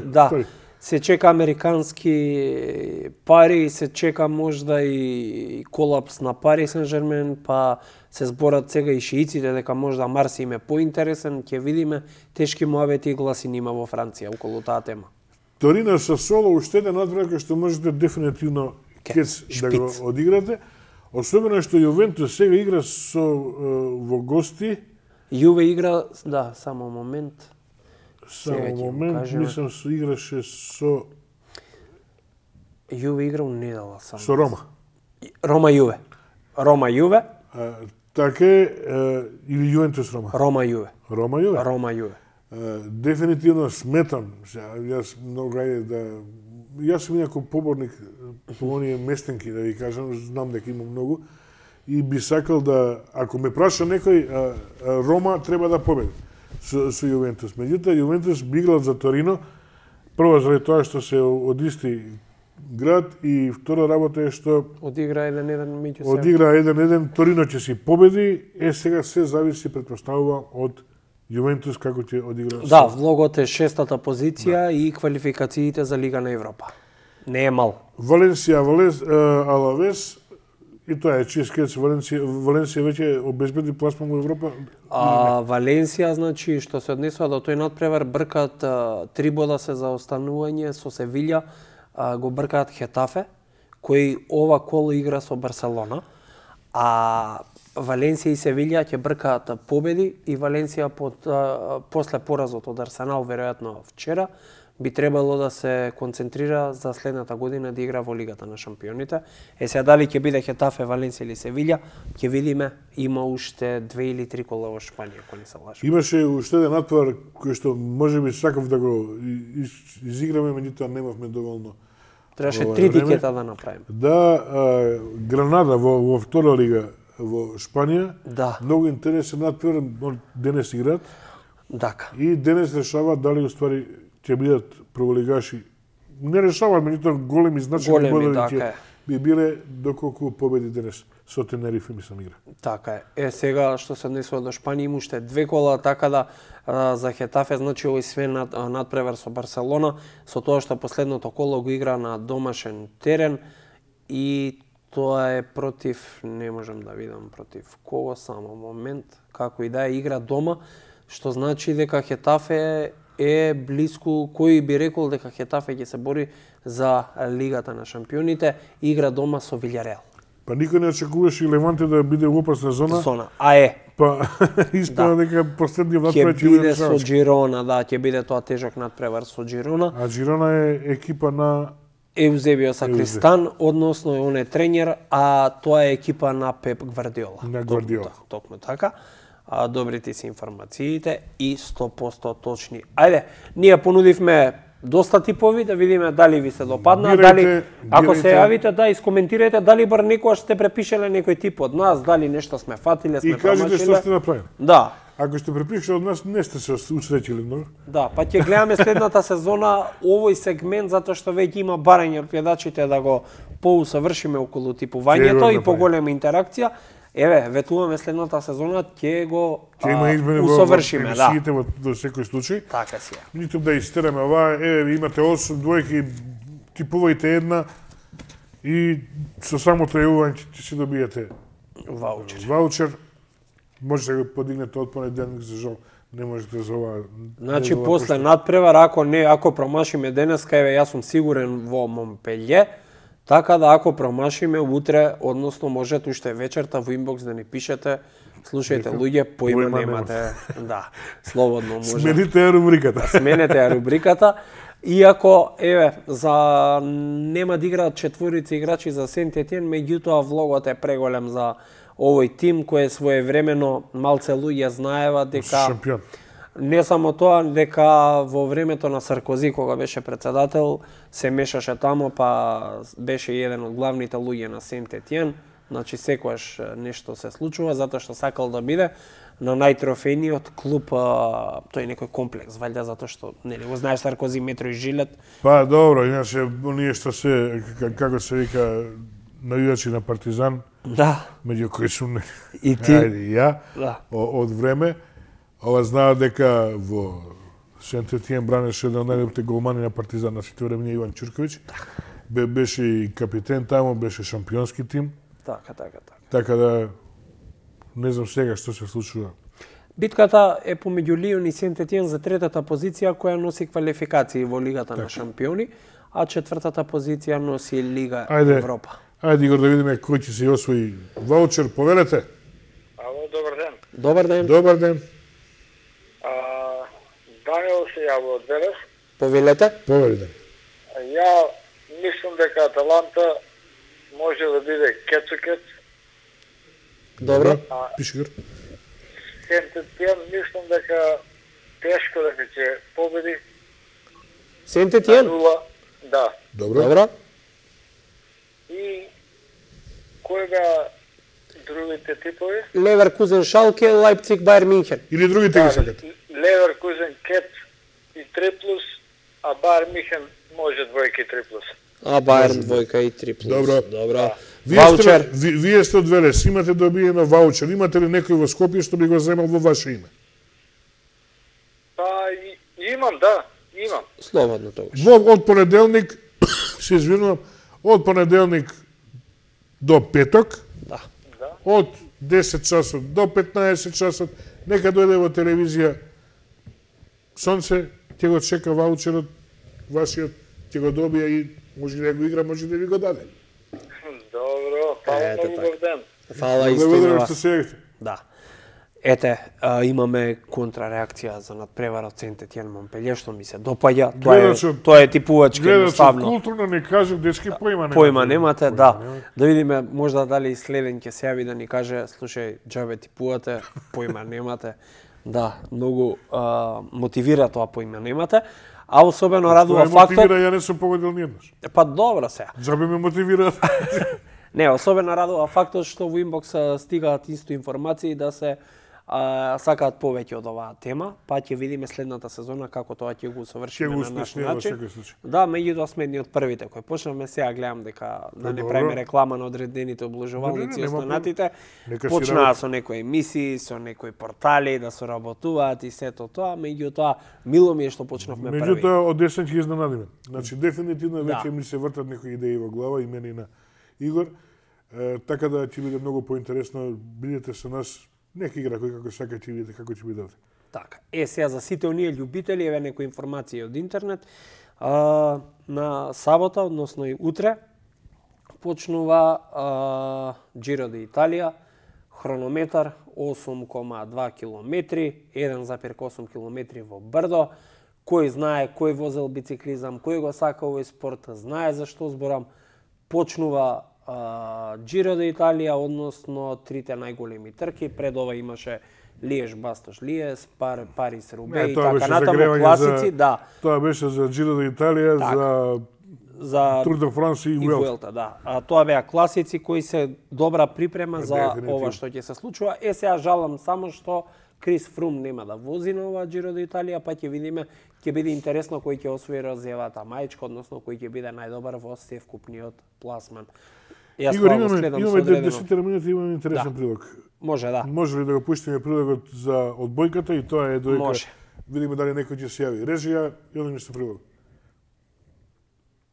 S1: се чека американски пари, се чека можда и колапс на Пари Сен-Жермен, па се зборат сега и шииците дека можда Марсеј им е поинтересен, ќе видиме, тешки муабети и гласини има во Франција околу таа тема.
S2: Торино со Соло уште еден надврат кој што можете дефинитивно кец да го одиграте. Особено што Јувентус сега игра во гости.
S1: Јуве игра, да, само момент.
S2: Мислам играше со...
S1: Јуве игра у недела само.
S2: Со Рома.
S1: Рома-Јуве. Рома-Јуве.
S2: Така или Јувентус-Рома?
S1: Рома-Јуве.
S2: Рома-Јуве?
S1: Рома-Јуве.
S2: Дефинитивно сметам, јас многу јас сум инаку поборник по оние местенки, да ви кажам, знам дека има многу, и би сакал да, ако ме праша некој, Рома треба да победи со Јувентус. Меѓутоа, Јувентус би играл за Торино, прво заради тоа што се од исти град, и втора работа е што
S1: одигра 1-1 меѓу себе.
S2: Одигра 1-1, Торино ќе си победи, сега се зависи, претпоставува, од Јувентус како ќе одигра.
S1: Да, влогот е 6-та позиција и квалификациите за Лига на Европа. Не е мал.
S2: Валенсија, Алавес, и тоа е чискец. Валенсија веќе обезбеди пласман во Европа.
S1: Валенсија, значи, што се однесува до тој надпревар, бркаат 3 бода се за останување со Севилја, го бркаат Хетафе, кој ова коло игра со Барселона, а Валенсија и Севилја ќе бркаат победи, и Валенсија после поразот од Арсенал, веројатно вчера, би требало да се концентрира за следната година да игра во Лигата на шампионите. Сега дали ќе биде Хетафе, Валенсија или Севилја, ќе видиме. Има уште 2 или 3 кола во Шпанија, ако не се лажам.
S2: Имаше уште еден надпревар кој што можеби сакав да го изиграме, меѓутоа немавме доволно.
S1: Требаше 3 тикета да направиме.
S2: Да, Гранада во втора лига во Шпанија.
S1: Да.
S2: Многу интересен надпревар, денес играат.
S1: Дака.
S2: И денес решаваат дали уствари ќе бидат прволигаши. Не решаваат, меѓутоа големи значајни бодови ќе би биле доколку победи денес со Тенерифе, мислам, игра.
S1: Така е. Сега што се однесува до Шпанија, има уште 2 кола, така да за Хетафе, значи овој све надпревар со Барселона, со тоа што последното коло го игра на домашен терен, и тоа е против, не можам да видам против кого, само момент, како и да е, игра дома, што значи дека Хетафе е блиску, кој би рекол дека Хетафе ќе се бори за Лигата на шампионите, игра дома со Вилјареал.
S2: Па никој не очекуваше и Леванте да биде во опасна зона.
S1: А е.
S2: Па испада дека последниот надпревар
S1: ќе биде со Джирона, да, ќе биде тоа тежок надпревар со Джирона.
S2: А Джирона е екипа на
S1: Еузебио Сакристан, односно он е тренер, а тоа е екипа на Пеп Гвардиола.
S2: На Гвардиола.
S1: Токму така. Добрите си информациите и 100% точни. Ајде, ние понудивме доста типови, да видиме дали ви се допадна, дали ако се јавите, да искоментирајте дали бар некојаш сте препишале некој тип од нас, дали нешто сме фатиле, сме промашиле.
S2: И кажете што сте направили.
S1: Да.
S2: Ако сте препишале од нас, не сте се усреќили многу.
S1: Да, па ќе гледаме следната сезона овој сегмент, затоа што веќе има барање од гледачите да го поусавршиме околу типувањето и поголема интеракција. Еве, ветуваме следната сезона ќе го усовршиме, да.
S2: Во секој случај.
S1: Така си.
S2: Ниту да истераме ова, еве имате 8 двојки, типувајте една и со самото јавување ќе си добиете ваучер. Може да го подигнете од понеделник, за жал не можете за ова.
S1: Значи после надпревар, ако промашиме денеска, еве јас сум сигурен во Монпелје. Така да ако промашиме утре, односно можете уште вечерта во инбокс да ни пишете, слушајте луѓе, поима немате. Да, слободно може.
S2: Смените ја рубриката.
S1: Сменете ја рубриката. Иако, еве, за нема да играат 4 играчи за Сент-Етиен, меѓутоа влогот е преголем за овој тим кој е своевремено, малце луѓе знаева дека
S2: шампион.
S1: Не само тоа, дека во времето на Саркози, кога беше председател, се мешаше тамо, па беше еден од главните луѓе на Сент-Етиен. Значи, секојаш нешто се случува, затоа што сакал да биде на најтрофејниот клуб, тој некој комплекс, валјда затоа што нели го знаеш Саркози, Метро и Жилет.
S2: Па добро, иначе оние што се како се вика навијачи на Партизан.
S1: Да.
S2: Меѓу кои сум
S1: и ти.
S2: Ајде, и ја.
S1: Да.
S2: Од време, ова знаат дека во Сент-Етиен бранеше еден од најдобрите голмани на Партизан на сите времиња Иван Чурковиќ. Беше и капитен таму, беше шампионски тим.
S1: Така.
S2: Така да не знам сега што се случува.
S1: Битката е помеѓу Лион и Сент-Етиен за третата позиција која носи квалификации во Лигата на шампиони, а четвртата позиција носи Лига Европа.
S2: Ајде Игор да видиме кој ќе се освои ваучер, повелете.
S7: Ало, добар ден.
S1: Добар ден.
S2: Добар ден.
S7: Даниел се јавува од Велес.
S1: Повелете.
S2: Повелете.
S7: Ја мислам дека Аталанта може да биде кецокет.
S1: Добро.
S2: Пиши Игор.
S7: Сент-Етиен мислам дека тешко дека ќе победи.
S1: Сент-Етиен?
S7: Да.
S2: Добро.
S7: И кој беа другите типови?
S1: Леверкузен, Шалке, Лајпциг, Бајер Минхен.
S2: Или другите ги сакате?
S7: Леверкузен, Кет и 3+, а Бајер Минхен може двојка и 3+.
S1: А Бајерн двојка и 3+.
S2: Добро.
S1: Ваучер.
S2: Вие сте од Велес, имате добиено ваучер. Имате ли некој во Скопје што би го земал во ваше име?
S7: Па, имам, да, имам.
S1: Слободно тогаш.
S2: Од понеделник, се извинувам, од понеделник до петок,
S1: Да.
S2: од 10 часот до 15 часот, нека дојде во телевизија Сонце, ќе го чека ваучерот, вашиот, ќе го добија и може да го игра, може да ви го даде.
S7: Добро, фала многу добар ден.
S1: Фала исто на
S2: Благодарам
S1: вас.
S2: што се јавите.
S1: Да. Ете, имаме контрареакција за надпреварот Сент-Етиен Монпелје, што ми се допаѓа. Тоа е типувачки едноставно.
S2: Културно не кажав, дечки поима немате.
S1: Поима немате, да. Да видиме, можда дали следен ќе се јави да ни каже, слушај, џабе типувате, поима немате. Да, многу мотивира тоа поима немате. А особено радува фактот...
S2: Мотивира, ја не сум погодил ниеднаш.
S1: Па добро се.
S2: Џабе ме мотивира.
S1: Не, особено радува фактот што во инбокс стигаат исто информации да се сакаат повеќе од оваа тема, па ќе видиме следната сезона како тоа ќе го усовршиме на наш начин. Да, меѓутоа сме едни од првите кои почнавме, сега гледам дека да не правиме реклама на одредените облажувалници и останатите. Почнаа со некои емисии, со некои портали да соработуваат и сето тоа, меѓутоа мило ми е што почнавме први.
S2: Меѓутоа од десен ќе изненадиме. Значи дефинитивно веќе ми се вртат некои идеи во глава и мене и на Игор. Така да ќе биде многу поинтересно, бидете со нас. Нека игра кој како сака ќе видите како ќе биде.
S1: Така. Сега за сите оние љубители, еве некои информации од интернет. На сабота, односно и утре, почнува Giro d'Italia, хронометар 8,2 километри, 1,8 километри во брдо. Кој знае, кој возел бициклизам, кој го сака овој спорт, знае за што зборам. Почнува Giro d'Italia, односно трите најголеми трки. Пред ова имаше Лиеж, Бастош, Лиес, Парис, Рубе и така натаму класици. Да.
S2: Тоа беше за Giro d'Italia, за Tour de France и Vuelta.
S1: Да. Тоа беа класици кои се добра припрема за ова што ќе се случува. Сега жалам само што Крис Фрум нема да вози на ова Giro d'Italia, па ќе видиме, ќе биде интересно кој ќе освои розјевата мајчка, односно кој ќе биде најдобар во севкупниот пласман.
S2: Игор, имаме 10 минути, имаме интересен прилог.
S1: Може, да.
S2: Може ли да го пуштиме прилогот за одбојката и тоа е дојка.
S1: Може.
S2: Видиме дали некој ќе се јави. Режија, јадам нешто прилог.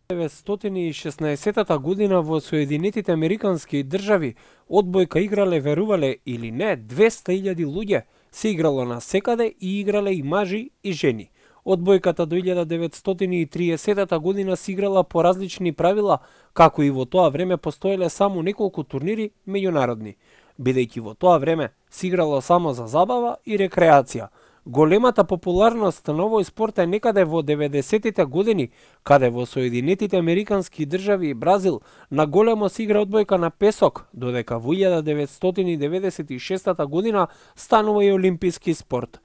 S1: 1916 година во Соединетите Американски држави одбојка играле, верувале или не, 200.000 луѓе. Се играло на секаде и играле и мажи и жени. Одбојката до 1930 година се играла по различни правила, како и во тоа време постоеле само неколку турнири меѓународни. Бидејќи во тоа време се играло само за забава и рекреација. Големата популарност на овој спорт е некаде во 90-тите години, каде во Соединетите Американски држави и Бразил на големо се игра одбојка на песок, додека во 1996 година станува и олимписки спорт.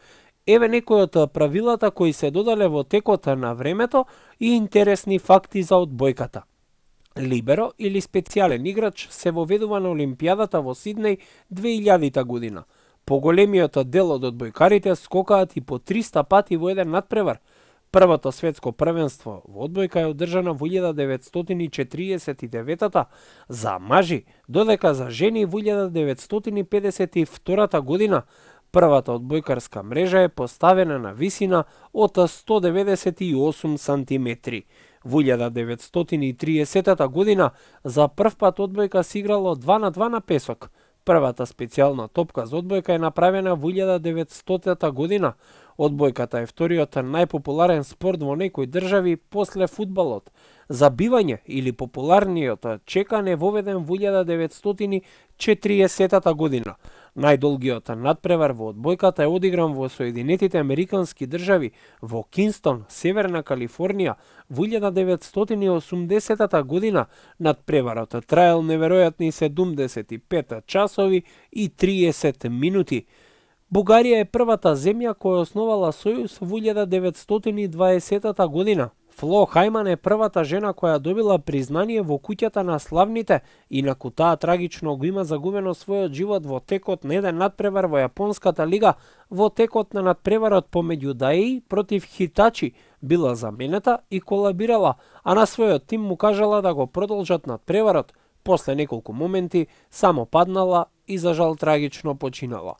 S1: Еве некои од правилата кои се додале во текот на времето и интересни факти за одбојката. Либеро или специјален играч се воведува на Олимпијадата во Сиднеј 2000 година. Поголемиот дел од одбојкарите скокаат и по 300 пати во еден надпревар. Првото светско првенство во одбојка е одржано во 1949 за мажи, додека за жени во 1952 година. Првата одбојкарска мрежа е поставена на висина од 198 сантиметри. Во 1930 година за прв пат одбојка се играло 2-2 на песок. Првата специјална топка за одбојка е направена во 1900 година. Одбојката е вториот најпопуларен спорт во некои држави после фудбалот. Забивање или популарниот чекан е воведен во 1940 година. Најдолгиот надпревар во одбојката е одигран во Соединетите Американски држави, во Кинстон, Северна Калифорнија, во 1980 година. Надпреварот траел неверојатни 75 часови и 30 минути. Бугарија е првата земја која основала сојуз во 1920 година. Фло Хајман е првата жена која добила признание во куќата на славните, инаку таа трагично го има загубено својот живот во текот на еден надпревар во Јапонската лига. Во текот на надпреварот помеѓу Даи против Хитачи била заменета и колабирала, а на својот тим му кажала да го продолжат надпреварот. После неколку моменти само паднала и за жал трагично починала.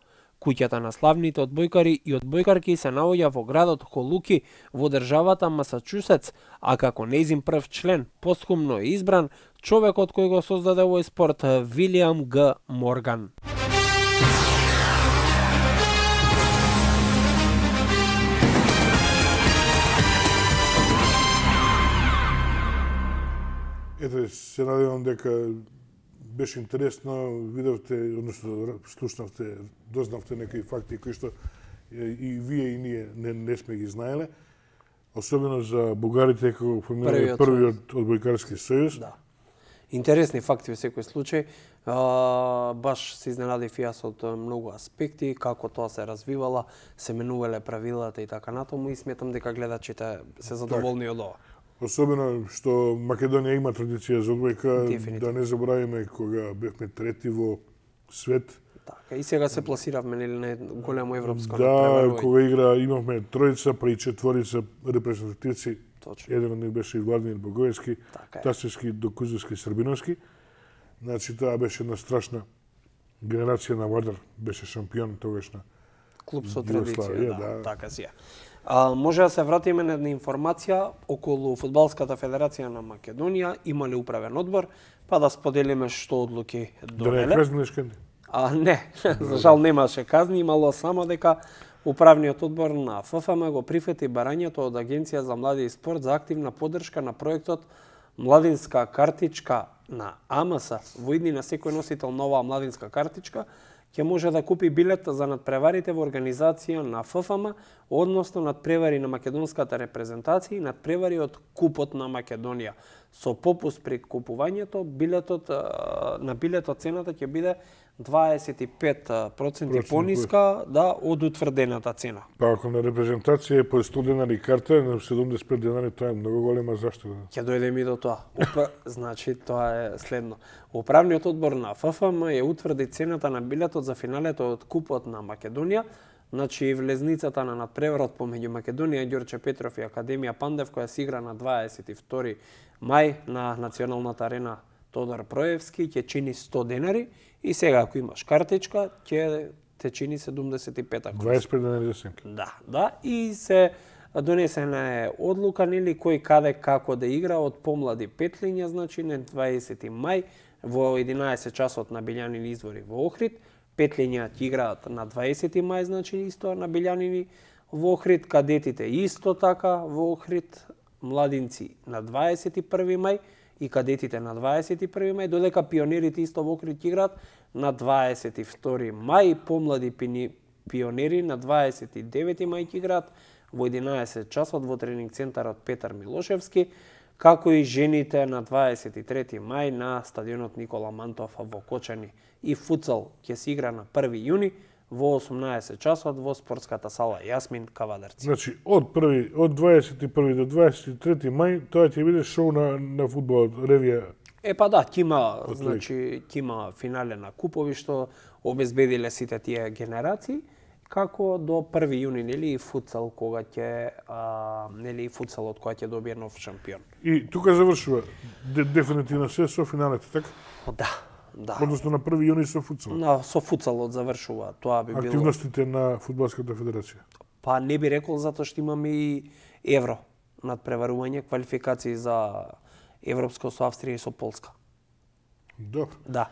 S1: Куќата на славните одбојкари и одбојкарки се наоѓа во градот Холуки во државата Масачусетс, а како нејзин прв член постхумно е избран човекот кој го создаде овој спорт, Вилијам Г. Морган.
S2: Ете, се надевам дека беше интересно, видовте, односно слушнавте, дознавте некои факти кои што и вие и ние не сме ги знаеле, особено за бугарите како формирале првиот одбојкарски сојуз.
S1: Да. Интересни факти во секој случај. Баш се изненадив јас од многу аспекти, како тоа се развивала, се менувале правилата и така натаму, и сметам дека гледачите се задоволни од ова.
S2: Особено што Македонија има традиција за одбојка, да не заборавиме кога бевме трети во свет.
S1: Така, и сега се пласиравме на големо европско
S2: надпревар. Да, кога имавме тројца, па и четворица репрезентативци. Точно. Еден од нив беше и Владимир Богоевски, Тасевски, Докузовски, Србиновски. Значи, таа беше една страшна генерација на Вардар, беше шампион тогаш на
S1: клуб со традиција, да, така си е. Може да се вратиме на една информација околу Фудбалската федерација на Македонија, има ли управен одбор, па да споделиме што одлуки донеле.
S2: Да не казни нешто?
S1: Не, за жал немаше казни, имало само дека управниот одбор на ФФМ го прифати барањето од Агенција за млади и спорт за активна поддршка на проектот Младинска картичка на АМС. Во иднина секој носител на оваа младинска картичка ќе може да купи билет за надпреварите во организација на ФФМ, односно надпревари на македонската репрезентација и надпревари од Купот на Македонија. Со попуст при купувањето, на билетот цената ќе биде 25% пониска од утврдената цена.
S2: Па ако на репрезентација е по 100 денари карта, на 75 денари тоа е многу голема заштеда.
S1: Ќе дојдеме и до тоа. Значи, тоа е следно. Управниот одбор на ФФМ ја утврди цената на билетот за финалето од Купот на Македонија. Значи, влезницата на надпреварот помеѓу Македонија, Ѓорче Петров и Академија Пандев, која се игра на 22 мај на Националната арена Тодор Проевски, ќе чини 100 денари, и сега ако имаш картичка, ќе те чини 75 ако.
S2: 25 денари за сенки.
S1: Да, и се донесена е одлука, нели, кој каде како да игра од помлади петлиња, значи на 20 мај во 11 часот на Билјанини извори во Охрид. Петлиња ќе играат на 20 мај, значи исто на Билјанини во Охрид, кадетите исто така во Охрид, младинци на 21 мај и кадетите на 21 мај, додека пионерите исто во Охрид ќе играат на 22 мај, помлади пионери на 29 мај ќе играат во 11 часот во тренинг центарот Петар Милошевски, како и жените на 23 мај на стадионот Никола Мантов во Кочани. И футсал ќе се игра на 1 јуни во 18 часот во спортската сала Јасмин Кавадарци.
S2: Значи, од 21 до 23 мај, тоа ќе биде шоу на фудбалот, ревија
S1: Па да, ќе има финале на купови што обезбедиле сите тие генерации, како до 1 јуни, нели, и футсал кога ќе нели футсалот кога ќе добие нов шампион.
S2: И тука завршува дефинитивно се со финалите, така?
S1: Да.
S2: Односно на 1 јуни со футсалот.
S1: Со футсалот завршува. Тоа би било
S2: активностите на фудбалската федерација.
S1: Па не би рекол затоа што имаме и евро надпреварување, квалификации за европско со Австрија и со Полска.
S2: Добро.
S1: Да.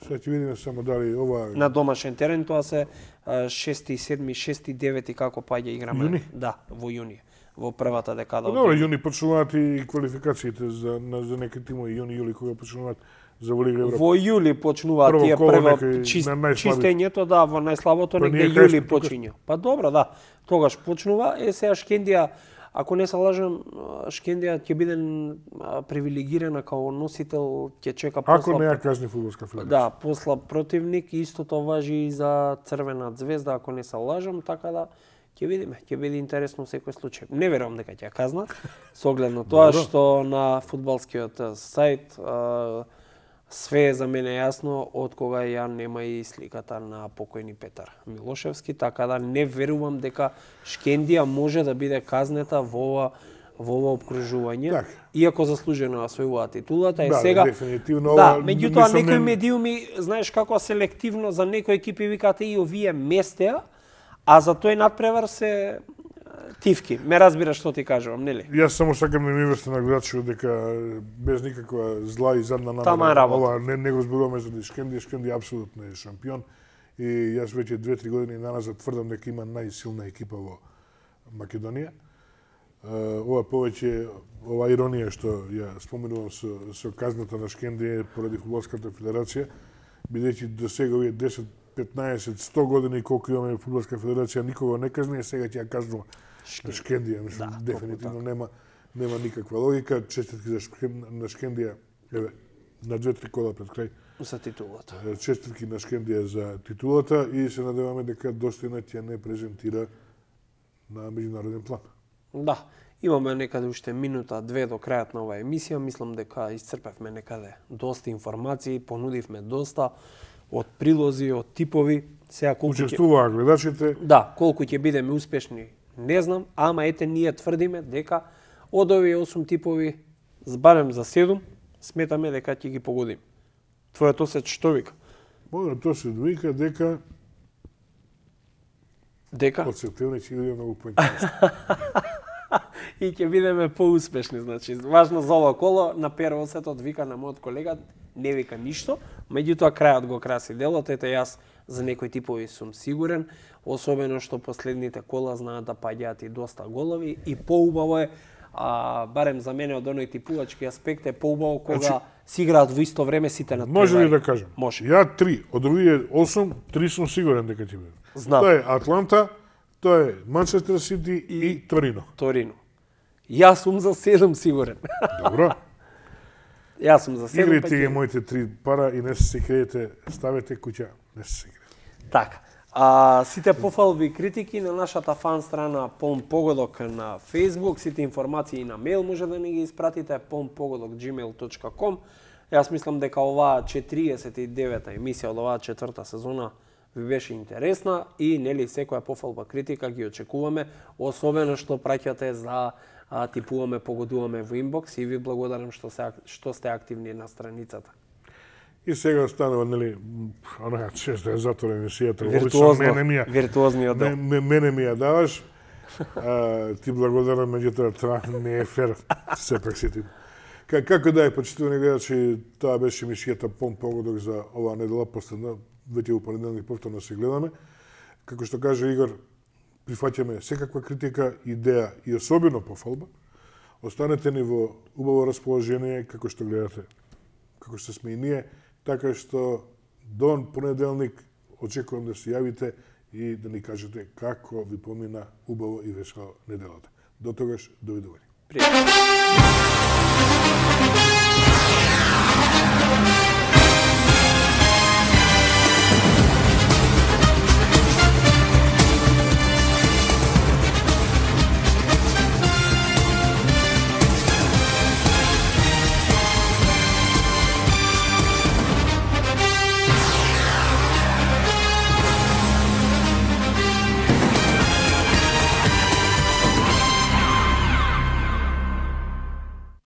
S2: Сега ќе видиме само дали ова
S1: на домашен терен, тоа се 6, 7, 6, 9 како паѓа играме.
S2: Јуни?
S1: Да, во јуни, во првата декада.
S2: Добро, јуни почнуваат и квалификациите за некои тимови, јуни, јули кога почнуваат за во Лига Европа.
S1: Во јули почнуваат тие чистењето, да, во најслабото негде јули почиња. Па добро, да. Тогаш почнува. Сега Шкендија, ако не се лажам, Шкендија ќе биде привилегирана као носител, ќе чека посла.
S2: Ако не ја казни фудбалска федерација.
S1: Да, посла противник, истото важи и за Црвена звезда, ако не се лажам, така да ќе видиме, ќе биде интересно секој случај. Не верувам дека ќе ја казнат, со оглед на тоа што на фудбалскиот сајт све е за мене јасно од кога ја нема и сликата на покојни Петар Милошевски, така да не верувам дека Шкендија може да биде казнета во ова обкружување, иако заслужено освојува титулата.
S2: Да,
S1: сега
S2: дефинитивно.
S1: Да, меѓутоа некои медиуми, знаеш како селективно за некои екипи викаат и овие местеа, а за тој надпревар се тивки. Ме разбираш што ти кажувам, нели?
S2: Јас само сакам да ми вести на гледачите дека без никаква зла и задна намера ова не го зборуваме за Шкендија апсолутно е шампион и јас веќе 2-3 години наназад тврдам дека има најсилна екипа во Македонија. Ова повеќе ова иронија што ја споменувам со казната на Шкендија поради фудбалската федерација, бидејќи до сега овие 10, 15, 100 години колку имаме фудбалска федерација никога не казни, сега ќе ја казнува Шкендија. Дефинитивно нема никаква логика. Честитки на Шкендија, еве, на 2-3 кола пред крај.
S1: За титулата.
S2: Честитки на Шкендија за титулата и се надеваме дека достојно ќе не презентира на меѓународен план.
S1: Да, имаме некаде уште минута, две до крајот на оваа емисија. Мислам дека исцрпевме некаде доста информации, понудивме доста од прилози, од типови. Сега колку
S2: учествуваа гледачите.
S1: Да, колку ќе бидеме успешни, не знам, ама ете ние тврдиме дека од овие 8 типови, барем за 7, сметаме дека ќе ги погодиме. Твојот осет што вика?
S2: Мојот осет вика дека од септември ќе биде многу поинтересно.
S1: И ќе бидеме поуспешни, значи. Важно за ова коло, на Пер осетот вика на мојот колега, не вика ништо, меѓутоа крајот го краси делот. Ете јас за некои типови сум сигурен, особено што последните кола знаат да паѓаат и доста голови и поубаво е, барем за мене од оној типувачки аспект е поубаво кога си играат во исто време сите надпревари.
S2: Може ли да кажам?
S1: Може.
S2: Ја 3, од овие 8, 3 сум сигурен дека ќе биде.
S1: Знам.
S2: Тоа е Атланта, тоа е Манчестер Сити и Торино.
S1: Торино. Јас сум за 7 сигурен.
S2: Добро.
S1: Јас сум за 7.
S2: Играйте ги моите 3 пара и не се криете, ставете куќа, не се криете.
S1: Така. Сите пофалби и критики на нашата фан страна Полн Погодок на Facebook, сите информации на мејл може да ни ги испратите polnpogodok@gmail.com. Јас мислам дека оваа 49-та емисија од оваа 4-та сезона ви беше интересна и нели секоја пофалба критика ги очекуваме, особено што праќате за типуваме, погодуваме во инбокс и ви благодарам што сте активни на страницата.
S2: И сега останува, нели, онака често е затворена емисијата.
S1: Виртуозниот дел.
S2: Мене ми ја даваш. Ти благодарам, меѓутоа тоа не е фер. Сепак си ти. Како да е, почитувани гледачи, тоа беше емисијата Полн Погодок за оваа недела, последна, веќе во понеделник повторно се гледаме. Како што каже Игор, прифаќаме секаква критика, идеја и особено пофалба. Останете ни во убаво расположение, како што гледате, како што сме и ние, така што до понеделник очекувам да се јавите и да ни кажете како ви помина убаво и весела неделата. До тогаш, довидување.
S1: Пријатно.